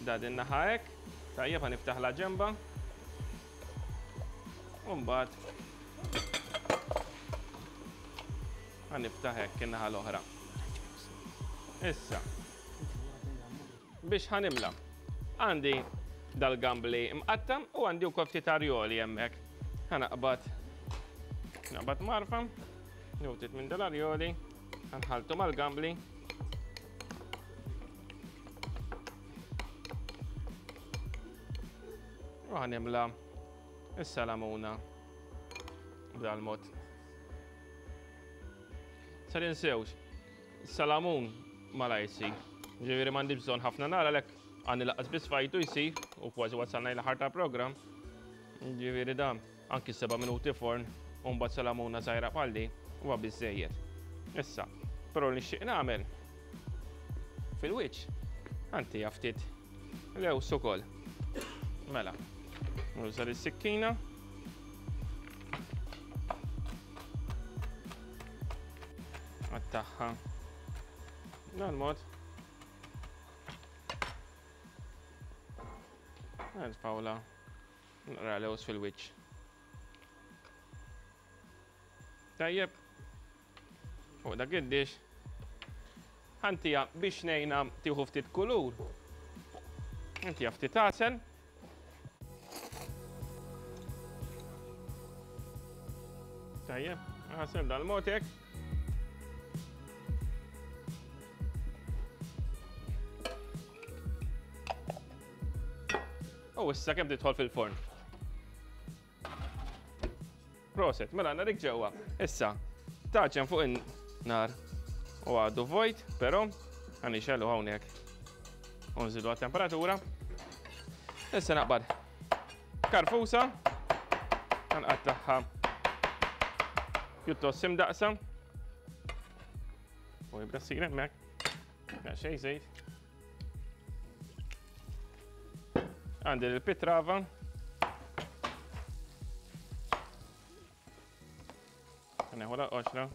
da din naħa hekk, tajjeb ħa niftaħ la ġemba. U mbagħad ħa niftaħ hekk in-naħa l-oħra. Issa, biex ħanimla, għandi dal-gambli mqatta u għandi wkoll ftit arjoli hemmhekk. Ħanaqbad, naqbad marfa, newtit minn dal-arjoli, ħanħaltu mal-gambli. U ħanimla is-salamuna b'dal-mod. Sa ninsewx, salamun mala jsir. Ġifieri m'għandi bżonn ħafna nar għalhekk għandi laqqas biss fajtu jsir u kważi wasalna l-aħħar ta' programm. Ġifieri da anki seba' minuti forn u mbagħad salamuna żgħira bħalli huwa biżżejjed. Issa, però li nixtieq nagħmel fil-wiċċ għandi ftit lews ukoll. Mela, nuża is-sikkina. Għattaħħa. Dan mod. Nitfawla naqra lews fil-wiċċ. Tajjeb. Fuq dak id-dix. Ħantija biex ngħinha tieħu ftit kulur. Ħantija ftit għasel. Tajjeb, għasel dal-mod hekk. U issa kemm tidħol fil-forn. Proset, mela għandna dik ġewwa. Issa, taġen fuq in-nar u għadu vojt, però ħanixelu hawnhekk. U nżidu għat-temperatura. Issa naqbad karfusa, ħanqattagħha pjuttost imdaqsa. U jibda ssir hemmhekk. Daqsxejn żejt. Għandi l-pitrava. Neħu l-qoxra.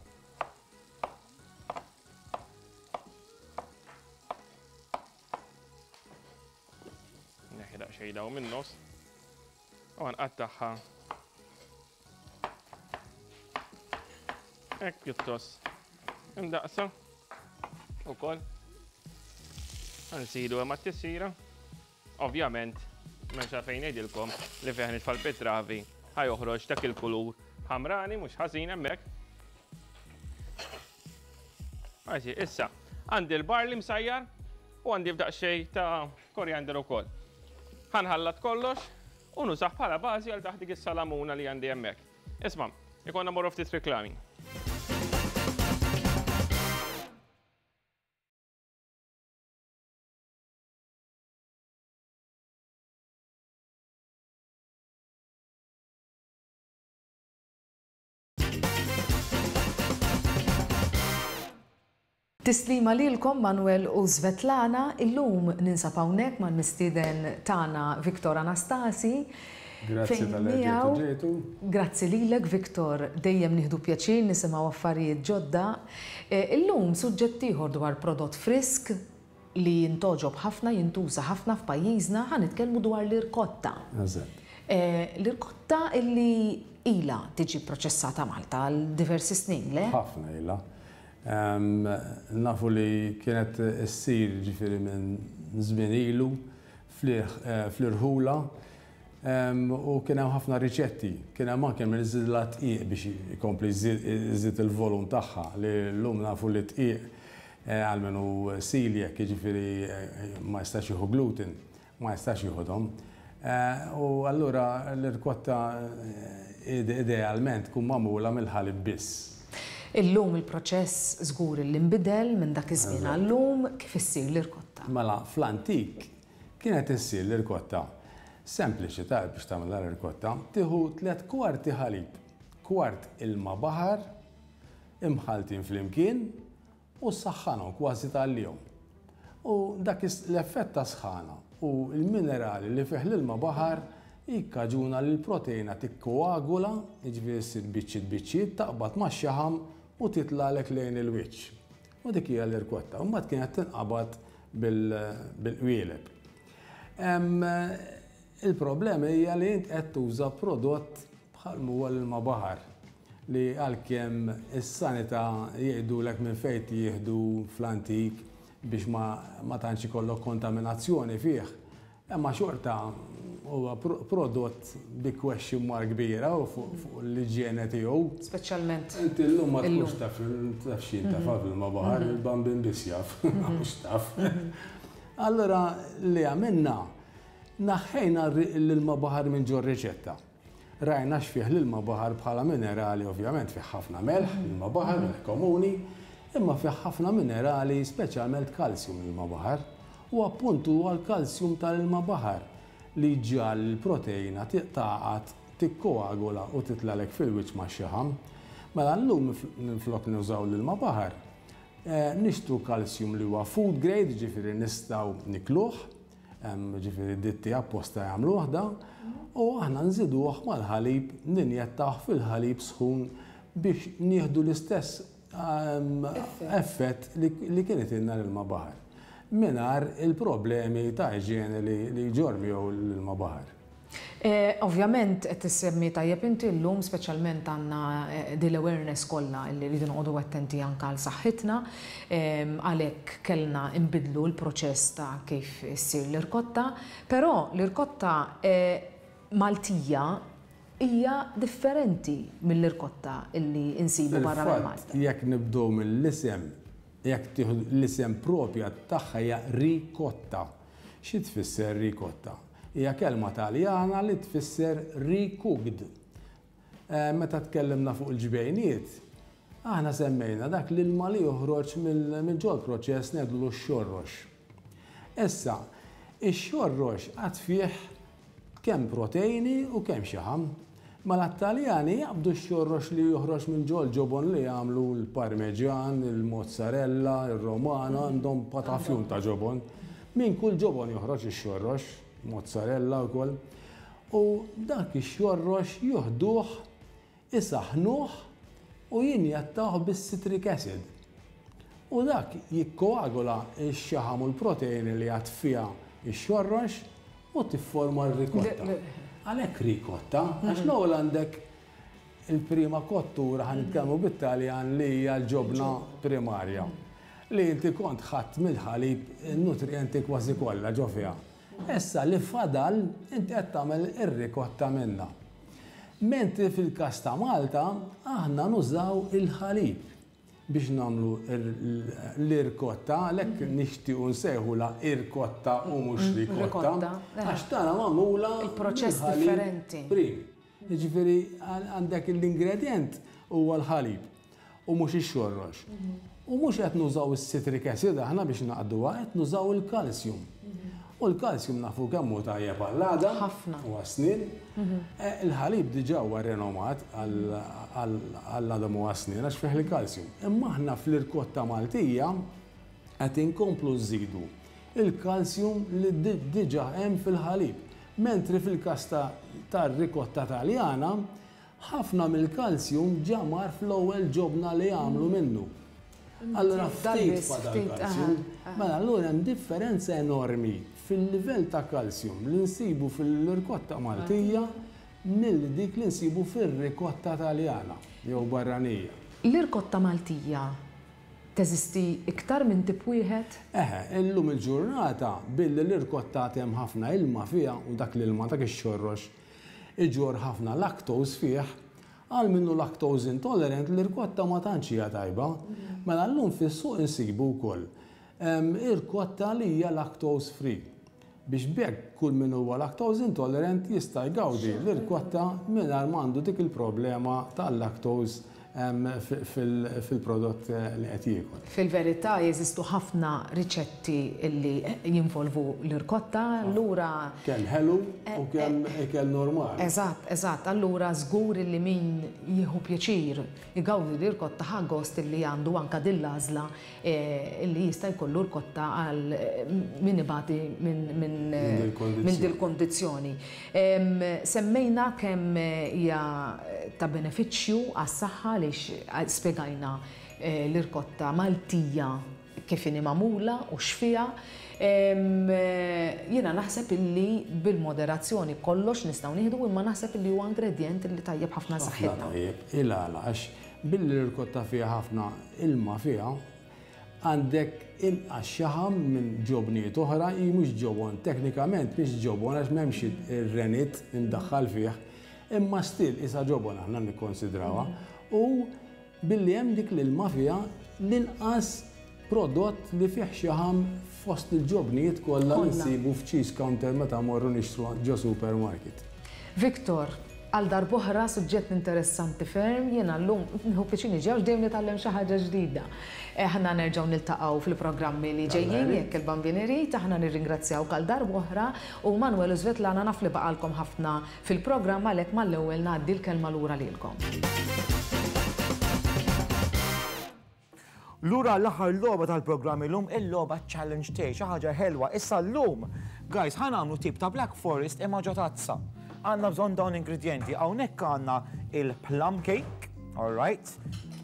Neħi daqsxejn daw min-nofs. U nqattagħha. Hekk pjuttost imdaqsa ukoll. Nsidu hemm għat-tisira. Ovvjament, m'hemmx għalfejn ngħidilkom li fih nitfa' l-pitravi ħa joħroġ dak il-kulur ħamrani mhux ħażin hemmhekk. Għaxi, issa, għandi l-barley msajjar u għandi f'daqsxejn ta' koriander ukoll. Ħanħallat kollox u nużah bħala bażi għal taħt dik is-salamuna li għandi hemmhekk. Isma', ikonna morru ftit reklami. Tislima lilkom Manuel u Svetlana, illum ninsab hawnhekk mal-mistieden tagħna Viktor Anastasi. Grazzi tal-li ġejtu. Grazzi lilek Viktor, dejjem nieħdu pjaċir nisimgħu affarijiet ġodda. Illum suġġett ieħor dwar prodott frisk li jintoġob ħafna, jintuża ħafna f'pajjiżna, ħa nitkellmu dwar l-irkotta. Eżatt. L-irkotta illi ilha tiġi proċessata Malta għal diversi snin, le? Ħafna ilha. Nafu li kienet issir ġifieri minn żmien ilu fl-irħula u kien hemm ħafna riċetti. Kien hemm anke min iżidilha dqiq biex ikompli jżid il-volum tagħha li llum nafu li dqiq għalmenu celiac, jiġifieri ma jistax jieħu gluten, ma jistax jieħodhom. U allura l-irkotta idealment tkun magħmula mill-ħalib biss. Illum il-proċess żgur li nbidel minn dak iż-żmien għallum kif issir l-irkotta. Mela fl-antik kienet issir l-irkotta. Sempliċi ta' biex tagħmel l-irkotta, tieħu tliet kwarti ħalib, kwart ilma baħar, imħaltin flimkien u ssaħħanhom kważi tal-jum. U dak l-effett ta' sħana u l-minerali li fih l-ilma baħar jikkaġuna li l-proteina tikkoagula, jiġifieri ssir biċċiet biċċiet, taqbad max-xaħam u titlagħlek lejn il-wiċċ. U dik hija l-irkotta. U mbagħad kienet tinqabad bil-qwieleb. Il-problema hija li int qed tuża prodott bħal huwa l-ilma baħar li għalkemm is-sanità jgħidulek minn fejn jieħdu fl-antik biex ma tantx ikollok kontaminazzjoni fih. Imma xorta huwa prodott bi question mark kbira u fuq l-iġjene tiegħu. Speċjalment. Inti llum ma tkunx taf taf x'int taf ilma baħar, il-bambin biss jaf, mhux taf. Allura li għamilna naħħejna l-ilma baħar minn ġo riċetta. Rajna x'fih l-ilma baħar bħala minerali, ovvjament fih ħafna melħ, l-ilma baħar, melħ komuni, imma fih ħafna minerali, speċjalment kalsjum l-ilma baħar. U appuntu huwa l-kalsjum tal-ilma baħar li ġal l-proteina taqgħad, tikkoagula u titlalek fil-wiċċ max-xaħam. Mela llum minflok nużaw l-ilma baħar, nixtru kalsjum li huwa food grade, ġifieri nistgħu nikluh, ġifieri ditti apposta jagħmluh da, u aħna nżiduh mal-ħalib, ninjettawh fil-ħalib sħun biex nieħdu l-istess effett li kienet ilna l-ilma baħar. Mingħajr il-problemi ta' iġjene li jġorr miegħu l-ilma baħar. Ovvjament qed tissemmi tajjeb inti llum speċjalment għandna din l-awareness kollha li rridu noqogħdu attenti anke għal saħħitna, għalhekk kellna nbidlu l-proċess ta' kif issir l-irkotta, però l-irkotta Maltija hija differenti mill-irkotta illi insibu barra minn Malta. Jekk nibdew mill-isem, jekk tieħu l-isem propja tagħha hija rikotta. Xi tfisser rikotta? Hija kelma Taljana li tfisser recooked. Meta tkellimna fuq il-ġbejniet, aħna semmejna dak l-ilma li joħroġ minn ġol proċess ngħidulu x-xorrox. Issa, ix-xorrox għad fih kemm proteini u kemm xaħam. Mela t-Taljani jaqbdu x-xorrox li joħroġ minn ġol ġobon li jagħmlu l-Parmeġan, il-mozzarella, il-Romana, għandhom patafjun ta' ġobon. Minn kull ġobon joħroġ ix-xorrox, mozzarella wkoll. U dak ix-xorrox juħduh, isaħnuh u jinjattawh bis-citric acid. U dak jikkoagula x-xaħam u l-proteini li għad fiha x-xorrox u tifforma r-rikotta. Għalhekk rikotta, għax l-ewwel għandek il-prima kottura, ħa nitkellmu bit-Taljan, li hija l-ġobna primarja. Li inti kont ħadd mill-ħalib in-nutrienti kważi kollha ġo fiha. Issa li fadal inti qed tagħmel ir-rikotta minnha. Mentri fil-każ ta' Malta aħna nużaw il-ħalib biex nagħmlu l-irkotta, għalhekk nixtiequ nsejħula irkotta u mhux rikotta, għax tagħna magħmula il-proċess differenti. Prim. Jiġifieri għandek l-ingredjent huwa l-ħalib u mhux ix-xorrox. U mhux qed nużaw is-citric acid aħna biex naqduha, qed nużaw il-kalsjum. U l-kalsjum nafu kemm hu tajjeb għall-għadam u għas-snien. Il-ħalib diġà huwa renomat għall-għadam u għas-snien għax fih il-kalsjum. Imma aħna fl-irkotta Maltija qed inkomplu nżidu il-kalsjum li diġà hemm fil-ħalib. Mentri fil-każ tar-rikotta Taljana, ħafna mill-kalsjum ġa mar fl-ewwel ġobna li jagħmlu minnu. Allora ftit fadal kalsjum. Mela allura hemm differenza enormi fil-livell ta' kalsjum li nsibu fil-rikotta Maltija mill dik li nsibu fir-rikotta Taljana jew barranija. L-irkotta Maltija teżisti iktar minn tip wieħed? Eħe, illum il-ġurnata billi l-irkotta hemm ħafna ilma fiha u dak l-ilma dak ix-xorrox iġor ħafna lactose fih, għal minnu lactose intolerant l-irkotta ma tantx hija tajba. Mela llum fis-suq insibu wkoll irkotta li hija lactose free. Biex b'hekk kull min huwa lactose intolerant jista' jgawdi l-irkotta mingħajr m'għandu dik il-problema tal-lactose fil-prodott li qed jiekol. Fil-verità jeżistu ħafna riċetti li jinvolvu l-irkotta, allura kemm ħelu u kemm ikel normali. Eżatt, eżatt, allura żgur li min jieħu pjaċir igawdi l-irkotta ħa gost li għandu anka din l-għażla li jista' jkollu rkotta għal min ibati minn dil-kondizzjoni. Semmejna kemm hija ta' benefiċċju għas-saħħa għaliex spjegajna l-irkotta Maltija kif inhi magħmula u x'fiha. Jiena naħseb illi bil-moderazzjoni kollox nistgħu nieħdu, imma naħseb illi huwa ingredjent li tajjeb ħafna saħħitna. Tajjeb, il-għala għax billi l-irkotta fiha ħafna ilma fiha, għandek inqas xaħam minn ġobnijiet oħra, hi mhux ġobon, teknikament mhix ġobon għax m'hemmx ir-renit imdaħħal fih, imma still isa ġobon aħna nikkonsidrawha. U billi hemm dik l-ilma fiha l-inqas prodott li fih xaħam fost il-ġobnijiet kollha li nsibu f'cheese counter meta morru nixtru ġo supermarket. Victor, għal darb'oħra suġġett interessanti ferm, jiena llum nieħu pjaċir niġi għax dejjem nitgħallem xi ħaġa ġdida. Aħna nerġgħu niltaqgħu fil-programmi li ġejjin jekk il-Bambin irid, aħna nirringrazzjawk għal darb'oħra u Manuel u Svetlana naf li baqalkom ħafna fil-programm għalhekk mal-ewwel ngħaddi l-kelma lura lilkom. Lura l-aħħar logħba tal-programm illum, il-logħba challenge tiegħi, xi ħaġa ħelwa. Issa llum, guys, ħa nagħmlu tip ta' Black Forest imma ġo tazza. Għandna bżonn dawn ingredienti. Hawnhekk għandna il-plum cake, all right?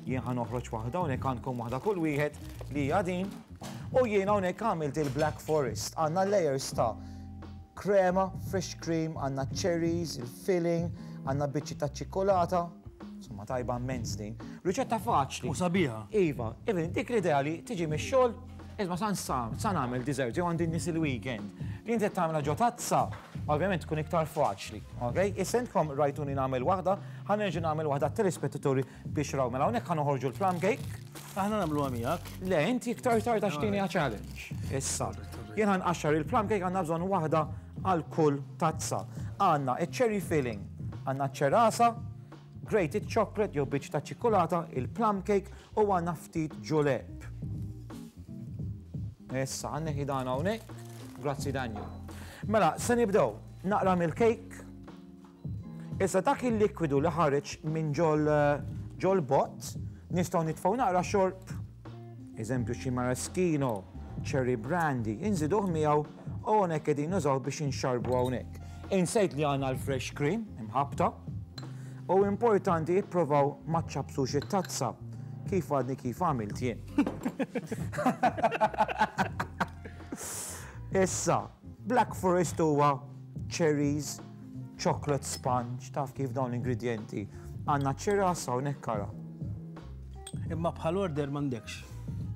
Jien ħa noħroġ waħda, hawnhekk għandkom waħda kull wieħed li hija din. U jien hawnhekk għamilt il-Black Forest. Għandna layers ta' krema, fresh cream, għandna cherries, il-filling, għandna biċċi ta' ċikkolata. Insomma, tajba immens din. Riċetta faċli. U sabiħa. Iva, even dik l-idea li tiġi mix-xogħol, isma' san san nagħmel dessert jew għandi nies il-weekend. Li inti tagħmilha ġo tazza, ovvjament tkun iktar faċli. Okay? Issa intkom rajtuni nagħmel waħda, ħa nerġa' nagħmel waħda telespettaturi biex raw. Mela hawnhekk ħa noħorġu l-plum cake. Aħna nagħmluha miegħek. Le, inti iktar tard għax tieni challenge. Issa. Jien ħa nqaxxar il-plum cake, għandna bżonn waħda għal kull tazza. Għandna iċ-cherry filling, għandna ċerasa, grated chocolate jew biċċ ta' ċikkolata, il-plum cake u għandna ftit ġuleb. Issa, għandna dan hawnhekk. Grazzi Daniel. Mela, se nibdew naqra mill-cake. Issa dak il-likwidu li ħareġ minn ġol ġol bot, nistgħu nitfgħu naqra xorb, eżempju xi maraschino, cherry brandy, inżiduh miegħu u hawnhekk qegħdin nużaw biex inxarbu hawnhekk. Insejt li għandna l-fresh cream imħabta u importanti jippruvaw ma ċċappsux it-tazza kif għadni kif għamilt jien. Issa, Black Forest huwa cherries, chocolate sponge, taf kif dawn l-ingredienti. Għandna ċirasa hawnhekk ara. Imma bħal order m'għandekx.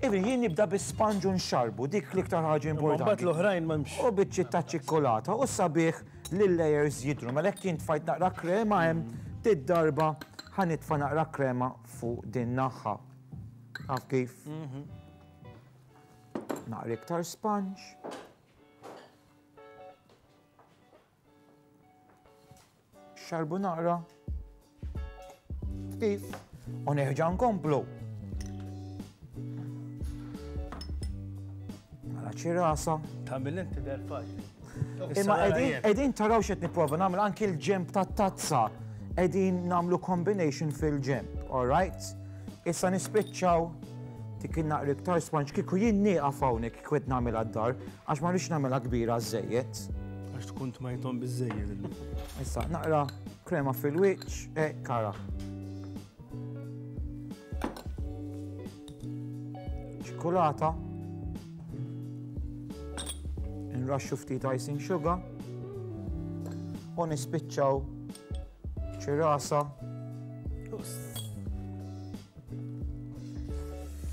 Even jien nibda bi-sponge u nxarbu, dik l-iktar ħaġa importanti. Mbagħad l-oħrajn m'hemmx. U biċċiet ta' ċikkolata u sabiħ li l-layers jidru. Mela jekk jien tfajt naqra krema hemm, did-darba ħa nitfa' naqra krema fuq din naħa. Taf kif? Naqra iktar sponge. Xarbu naqra. Kif? U nerġa' nkomplu. Mela ċirasa. Tagħmel inti der faċli. Imma qegħdin taraw x'qed nipprova nagħmel anki l-ġemp tat-tazza. Qegħdin nagħmlu combination fil-ġemp, all right? Issa nispiċċaw dik in-naqra iktar sponge kieku jien nieqaf hawnhekk kieku qed nagħmilha d-dar għax ma rridx nagħmilha kbira żejjed. Għax tkun tmajthom biżejjed illum. Issa naqra krema fil-wiċċ, e kara. Ċikolata. Nraxxu ftit icing sugar. U nispiċċaw ċirasa.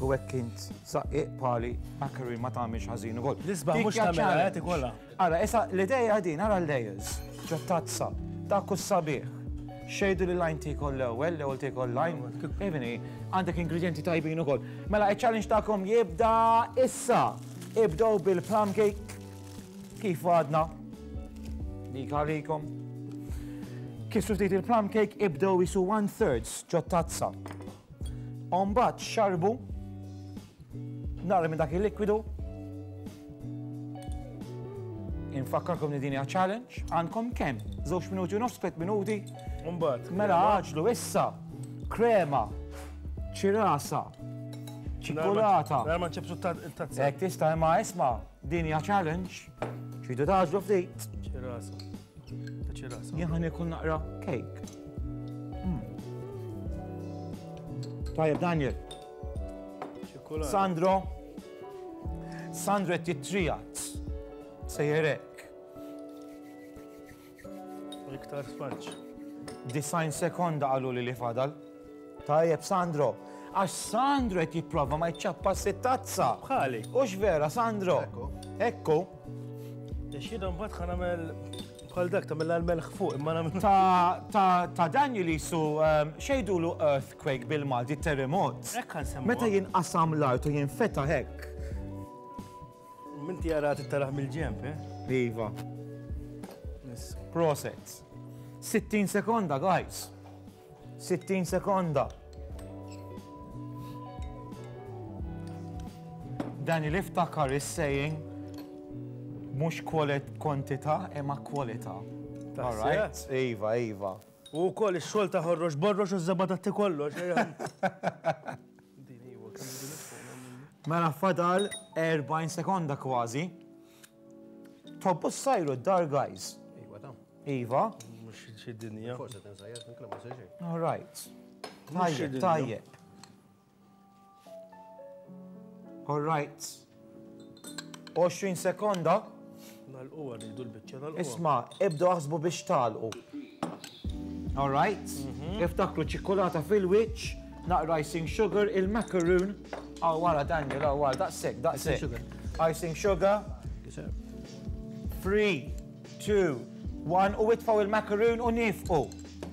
U hekk int saqqiq pali macaroon ma tagħmilx ħażin ukoll. L-isbaħ mhux Dik hija tagħmilha, challenge. qed ikollha. Ara, issa l-idea din, ara l-layers, ġo tazza, dak hu sabiħ. Xejdu li lajn tikol l-ewwel, l-ewwel tikol lajn. Evini, għandek ingredienti tajbin ukoll. Mela, il-challenge tagħkom jibda issa. Ibdew bil-plum cake. Kif għadna? Dik għalikom. Kisru ftit il-plum cake, ibdew jisu one thirds ġo tazza. Umbagħad xarbu, nara minn dak il-likwidu. Infakkarkom li din hija challenge, għandkom kemm? Żewġ minuti u nofs, tliet minuti. Umbagħad. Mela għaġlu issa krema, ċirasa, ċikolata. Mela ma nċebsu t-tazza. Hekk tista' imma isma' din hija challenge. Tridu taġlu ftit. Ċirasa. Ta' ċirasa. Jien ħa niekol naqra cake. Mm. Tajjeb, Daniel. Ċikolata. Sandro. Sandro qed jittrijat. Sejjerek. Iktar sponge. Design sekonda qalu li li fadal. Tajjeb, Sandro. Għax Sandro qed jipprova ma jċappas it-tazza. Bħali. Ux vera, Sandro. Ekku. Ekku. Għax jiena mbagħad ħa nagħmel bħal dak tagħmel l-melħ fuq imma nagħmel. Ta' ta' ta' Daniel jisu um, xejdulu earthquake bil-Malti, terremot. Hekk ħansemmuha. Meta jinqasam l-art u jinfetaħ hekk. Minti jara tittaraħ mill-ġemp, eh? Iva. Proset. Sittin sekonda, guys. Sittin sekonda. Daniel iftakar is-saying mhux kwantità imma kwalità. All right? Iva, iva. U wkoll ix-xogħol ta' ħorrox borrox u ż-żebgħa ta' kollox. Mela fadal erbgħin sekonda kważi. Tobbu s-sajru d-dar, guys. Iva, ta' Iva. Mhux xi dinja. Forse tinsajjar, inkella ma jsir xejn. All right. Mhux xi Tajjeb, dinja. tajjeb. All right. Għoxrin sekonda. Nagħlquha rridu l-biċċa nagħlquha. Isma', ibdu aħsbu biex tagħlqu. All right? Iftakru ċikkolata fil-wiċċ, naqra icing sugar, il-macaroon. Aw wara Daniel, aw wara, daqshekk, daqshekk. Icing sugar. Icing sugar. Yes, sir. Three, two, one, u itfgħu il-macaroon u nifqu.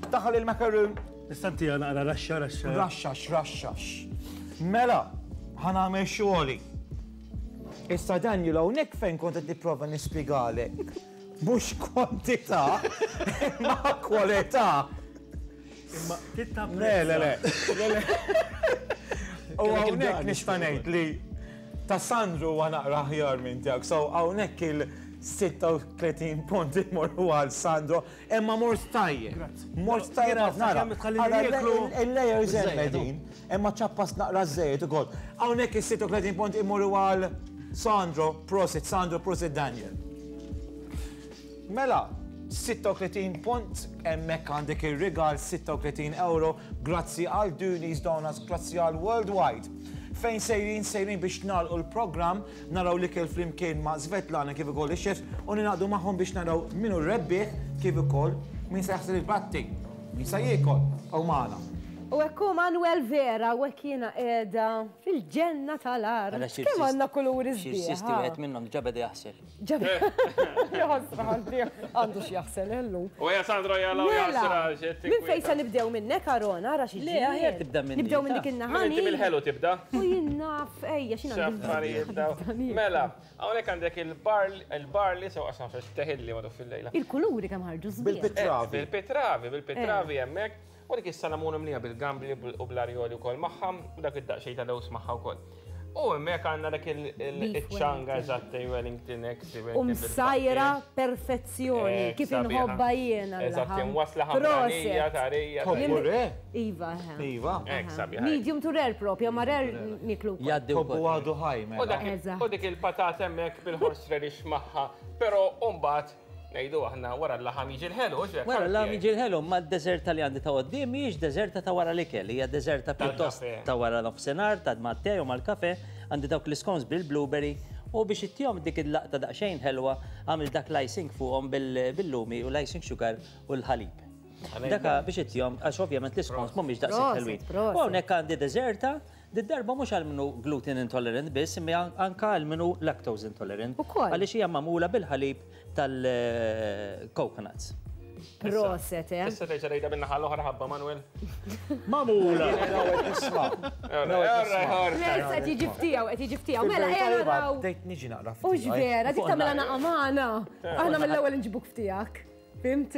Daħal il-macaroon. Nista' ntiha naqra raxxa, raxxa. Raxxax, raxxax. Mela, ħa nagħmel xogħli. Issa Daniel, hawnhekk fejn kont qed nipprova nispjegalek. Mhux kwantità, imma kwalità. Imma titapprezza. Le, le, le. Le, le. U hawnhekk nista' ngħid li ta' Sandro huwa naqra aħjar minn tiegħek. So hawnhekk il sitta u tletin punt imorru għal Sandro, imma mort tajjeb. Mort tajjeb nara. Il-layers hemm qegħdin, imma ċappas naqra żejjed ukoll. Hawnhekk is-sitta u tletin punt imorru għal Sandro, prosit Sandro, prosit Daniel. Mela, sitta u tletin punt, hemmhekk għandek ir-rigal sitta u tletin euro, grazzi għal Dooney's Donuts, grazzi għal Worldwide. Fejn sejrin, sejrin biex nagħlqu l-programm, naraw l-ikel flimkien ma' Svetlana kif ukoll ix-chefs u ninaqdu magħhom biex naraw min hu rebbieħ kif ukoll min se jaħsel il-platti, min se jiekol u magħna. U hekk hu Manuel Vera, u hekk jiena qiegħda fil-ġenna tal-art. Kemm għandna kuluri sbieħ. Xi sisti wieħed minnhom diġà beda jaħsel. Jaħsel għandu x'jaħsel illum. U ja Sandro jalla u jaħsel. Minn fejn se nibdew minnek Arona, ara xi. Le, aħjar tibda minni. Nibdew minn dik in-naħa. Inti mill-ħelu tibda. U jien naf, ejja x'in għandi. Mela, hawnhekk għandek il-barley sew qasam fex teħilli ma fil-lejla. Il-kuluri kemm ħarġu sbieħ. Bil-pitravi. Bil-pitravi, bil-pitravi hemmhekk. U dik is-salamun imlija bil-gambli u bl-arjoli wkoll magħha, u dak id-daqsxejn ta' lews magħha wkoll. U hemmhekk għandna dak il-ċanga eżatt Wellington X. U msajra perfezzjoni, kif inħobba jiena. Eżatt, wasla ħamranija, tarija. Tobbu re? Iva, Iva. Hekk sabiħa. Medium to rare propja, ma rare niklu. Tobbu għadu ħaj, mela. U dik il-patata hemmhekk bil-horseradish magħha, però mbagħad ngħidu aħna wara l-laħam jiġi l-ħelu, x'hekk? Wara l-laħam jiġi l-ħelu, ma d-deżerta li għandi ta' quddiem mhijiex deżerta ta' wara l-ikel, hija deżerta pjuttost ta' wara nofsinhar, ta' mat-te u mal-kafe, għandi dawk l-iscones bil-blueberry u biex ittihom dik il-laqta daqsxejn ħelwa għamil dak l-icing fuqhom bil-lumi u l-icing sugar u l-ħalib. Daka biex ittihom, għax ovvjament l-iscones mhumiex daqshekk ħelwin. U hawnhekk għandi deżerta, Did-darba mhux għal minnu gluten intolerant biss, imma anka għal minnu lactose intolerant. Għaliex hija magħmula bil-ħalib tal-coconuts. Proset, eh? Issa terġa' tgħidha bin-naħa l-oħra ħabba Manuel. Magħmula. Issa qed jiġi ftiegħu, qed jiġi ftiegħu. Mela ejja naraw. Bdejt niġi naqra ftiegħu. Hux vera, dik tagħmilha naqa' magħna. Aħna mill-ewwel inġibuk ftiegħek. Fimt?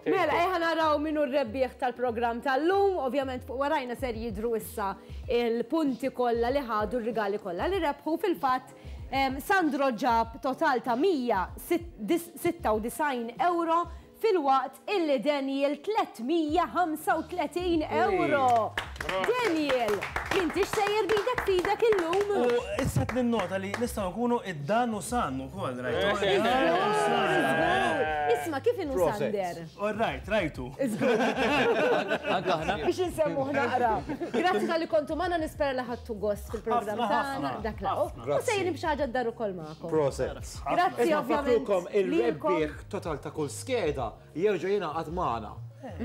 Mela, ejja naraw minnu r-rebbieħ tal-programm tal-lum, ovvjament fuq warajna ser jidru issa il-punti kollha li ħadu r-rigali kollha li rebħu. Fil-fatt Sandro ġab total ta' mija sitta u disgħin euro fil-waqt illi Daniel tliet mija ħamsa u tletin euro. Daniel, m'intix sejjer bidek fidek illum. U issa qed ninnota li nistgħu nkunu id-dan u san ukoll, rajtu. Isma' kif inhu Sander? All right, rajtu. Anke aħna. Biex insemmuh naqra. Grazzi tal-li kontu magħna, nispera li ħadtu gost fil-programm tagħna dak la. U sejrin b'xi ħaġa d-dar ukoll magħkom. Proset. Grazzi ovvjament. Il-rebbieħ total ta' kull skeda jerġa' jingħaqad magħna.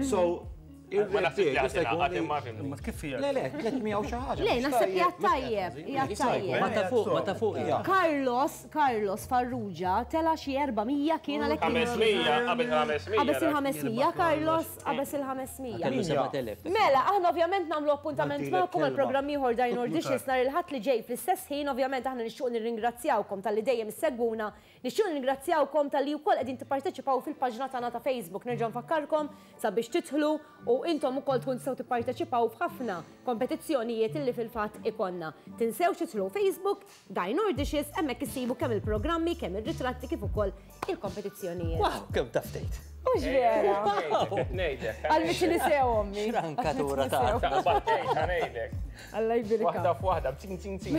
So, il-rebbieħ jista' jkun. Ma kif hija? Le, le, tliet mija u xi ħaġa. Le, naħseb hija tajjeb, hija tajjeb. Ma ta' fuq, ma ta' fuq. Carlos, Carlos Farrugia tela xi erba' mija kien għalhekk. ħames mija, qabel ħames mija. Qabel il-ħames mija, Carlos, qabel il-ħames mija. Kellu seba' telef. Mela, aħna ovvjament nagħmlu appuntament magħkom għal programm ieħor Dine or Dishes nhar il-Ħadd li ġej fl-istess ħin. Ovvjament aħna nixtiequ nirringrazzjawkom talli dejjem issegwuna, nixtiequ nirringrazzjawkom talli wkoll qegħdin tipparteċipaw fil-paġna tagħna ta' Facebook. Nerġa' nfakkarkom sabiex tidħlu u intom ukoll tkun tistgħu tipparteċipaw f'ħafna kompetizzjonijiet illi fil-fatt ikonna. Tinsewx tidħlu Facebook, Dine or Dishes, hemmhekk issibu kemm il-programmi, kemm ir-ritratti kif ukoll il-kompetizzjonijiet. Wow, kemm taf tgħid. Mhux vera. Għal biex nisew ommi. Xrankatura ta' Alla jbirka. Waħda f'waħda, b'cing cing cing.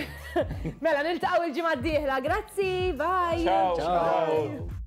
Mela niltaqgħu il-ġimgħa d-dieħla. Grazzi, bye. Ciao. Ciao.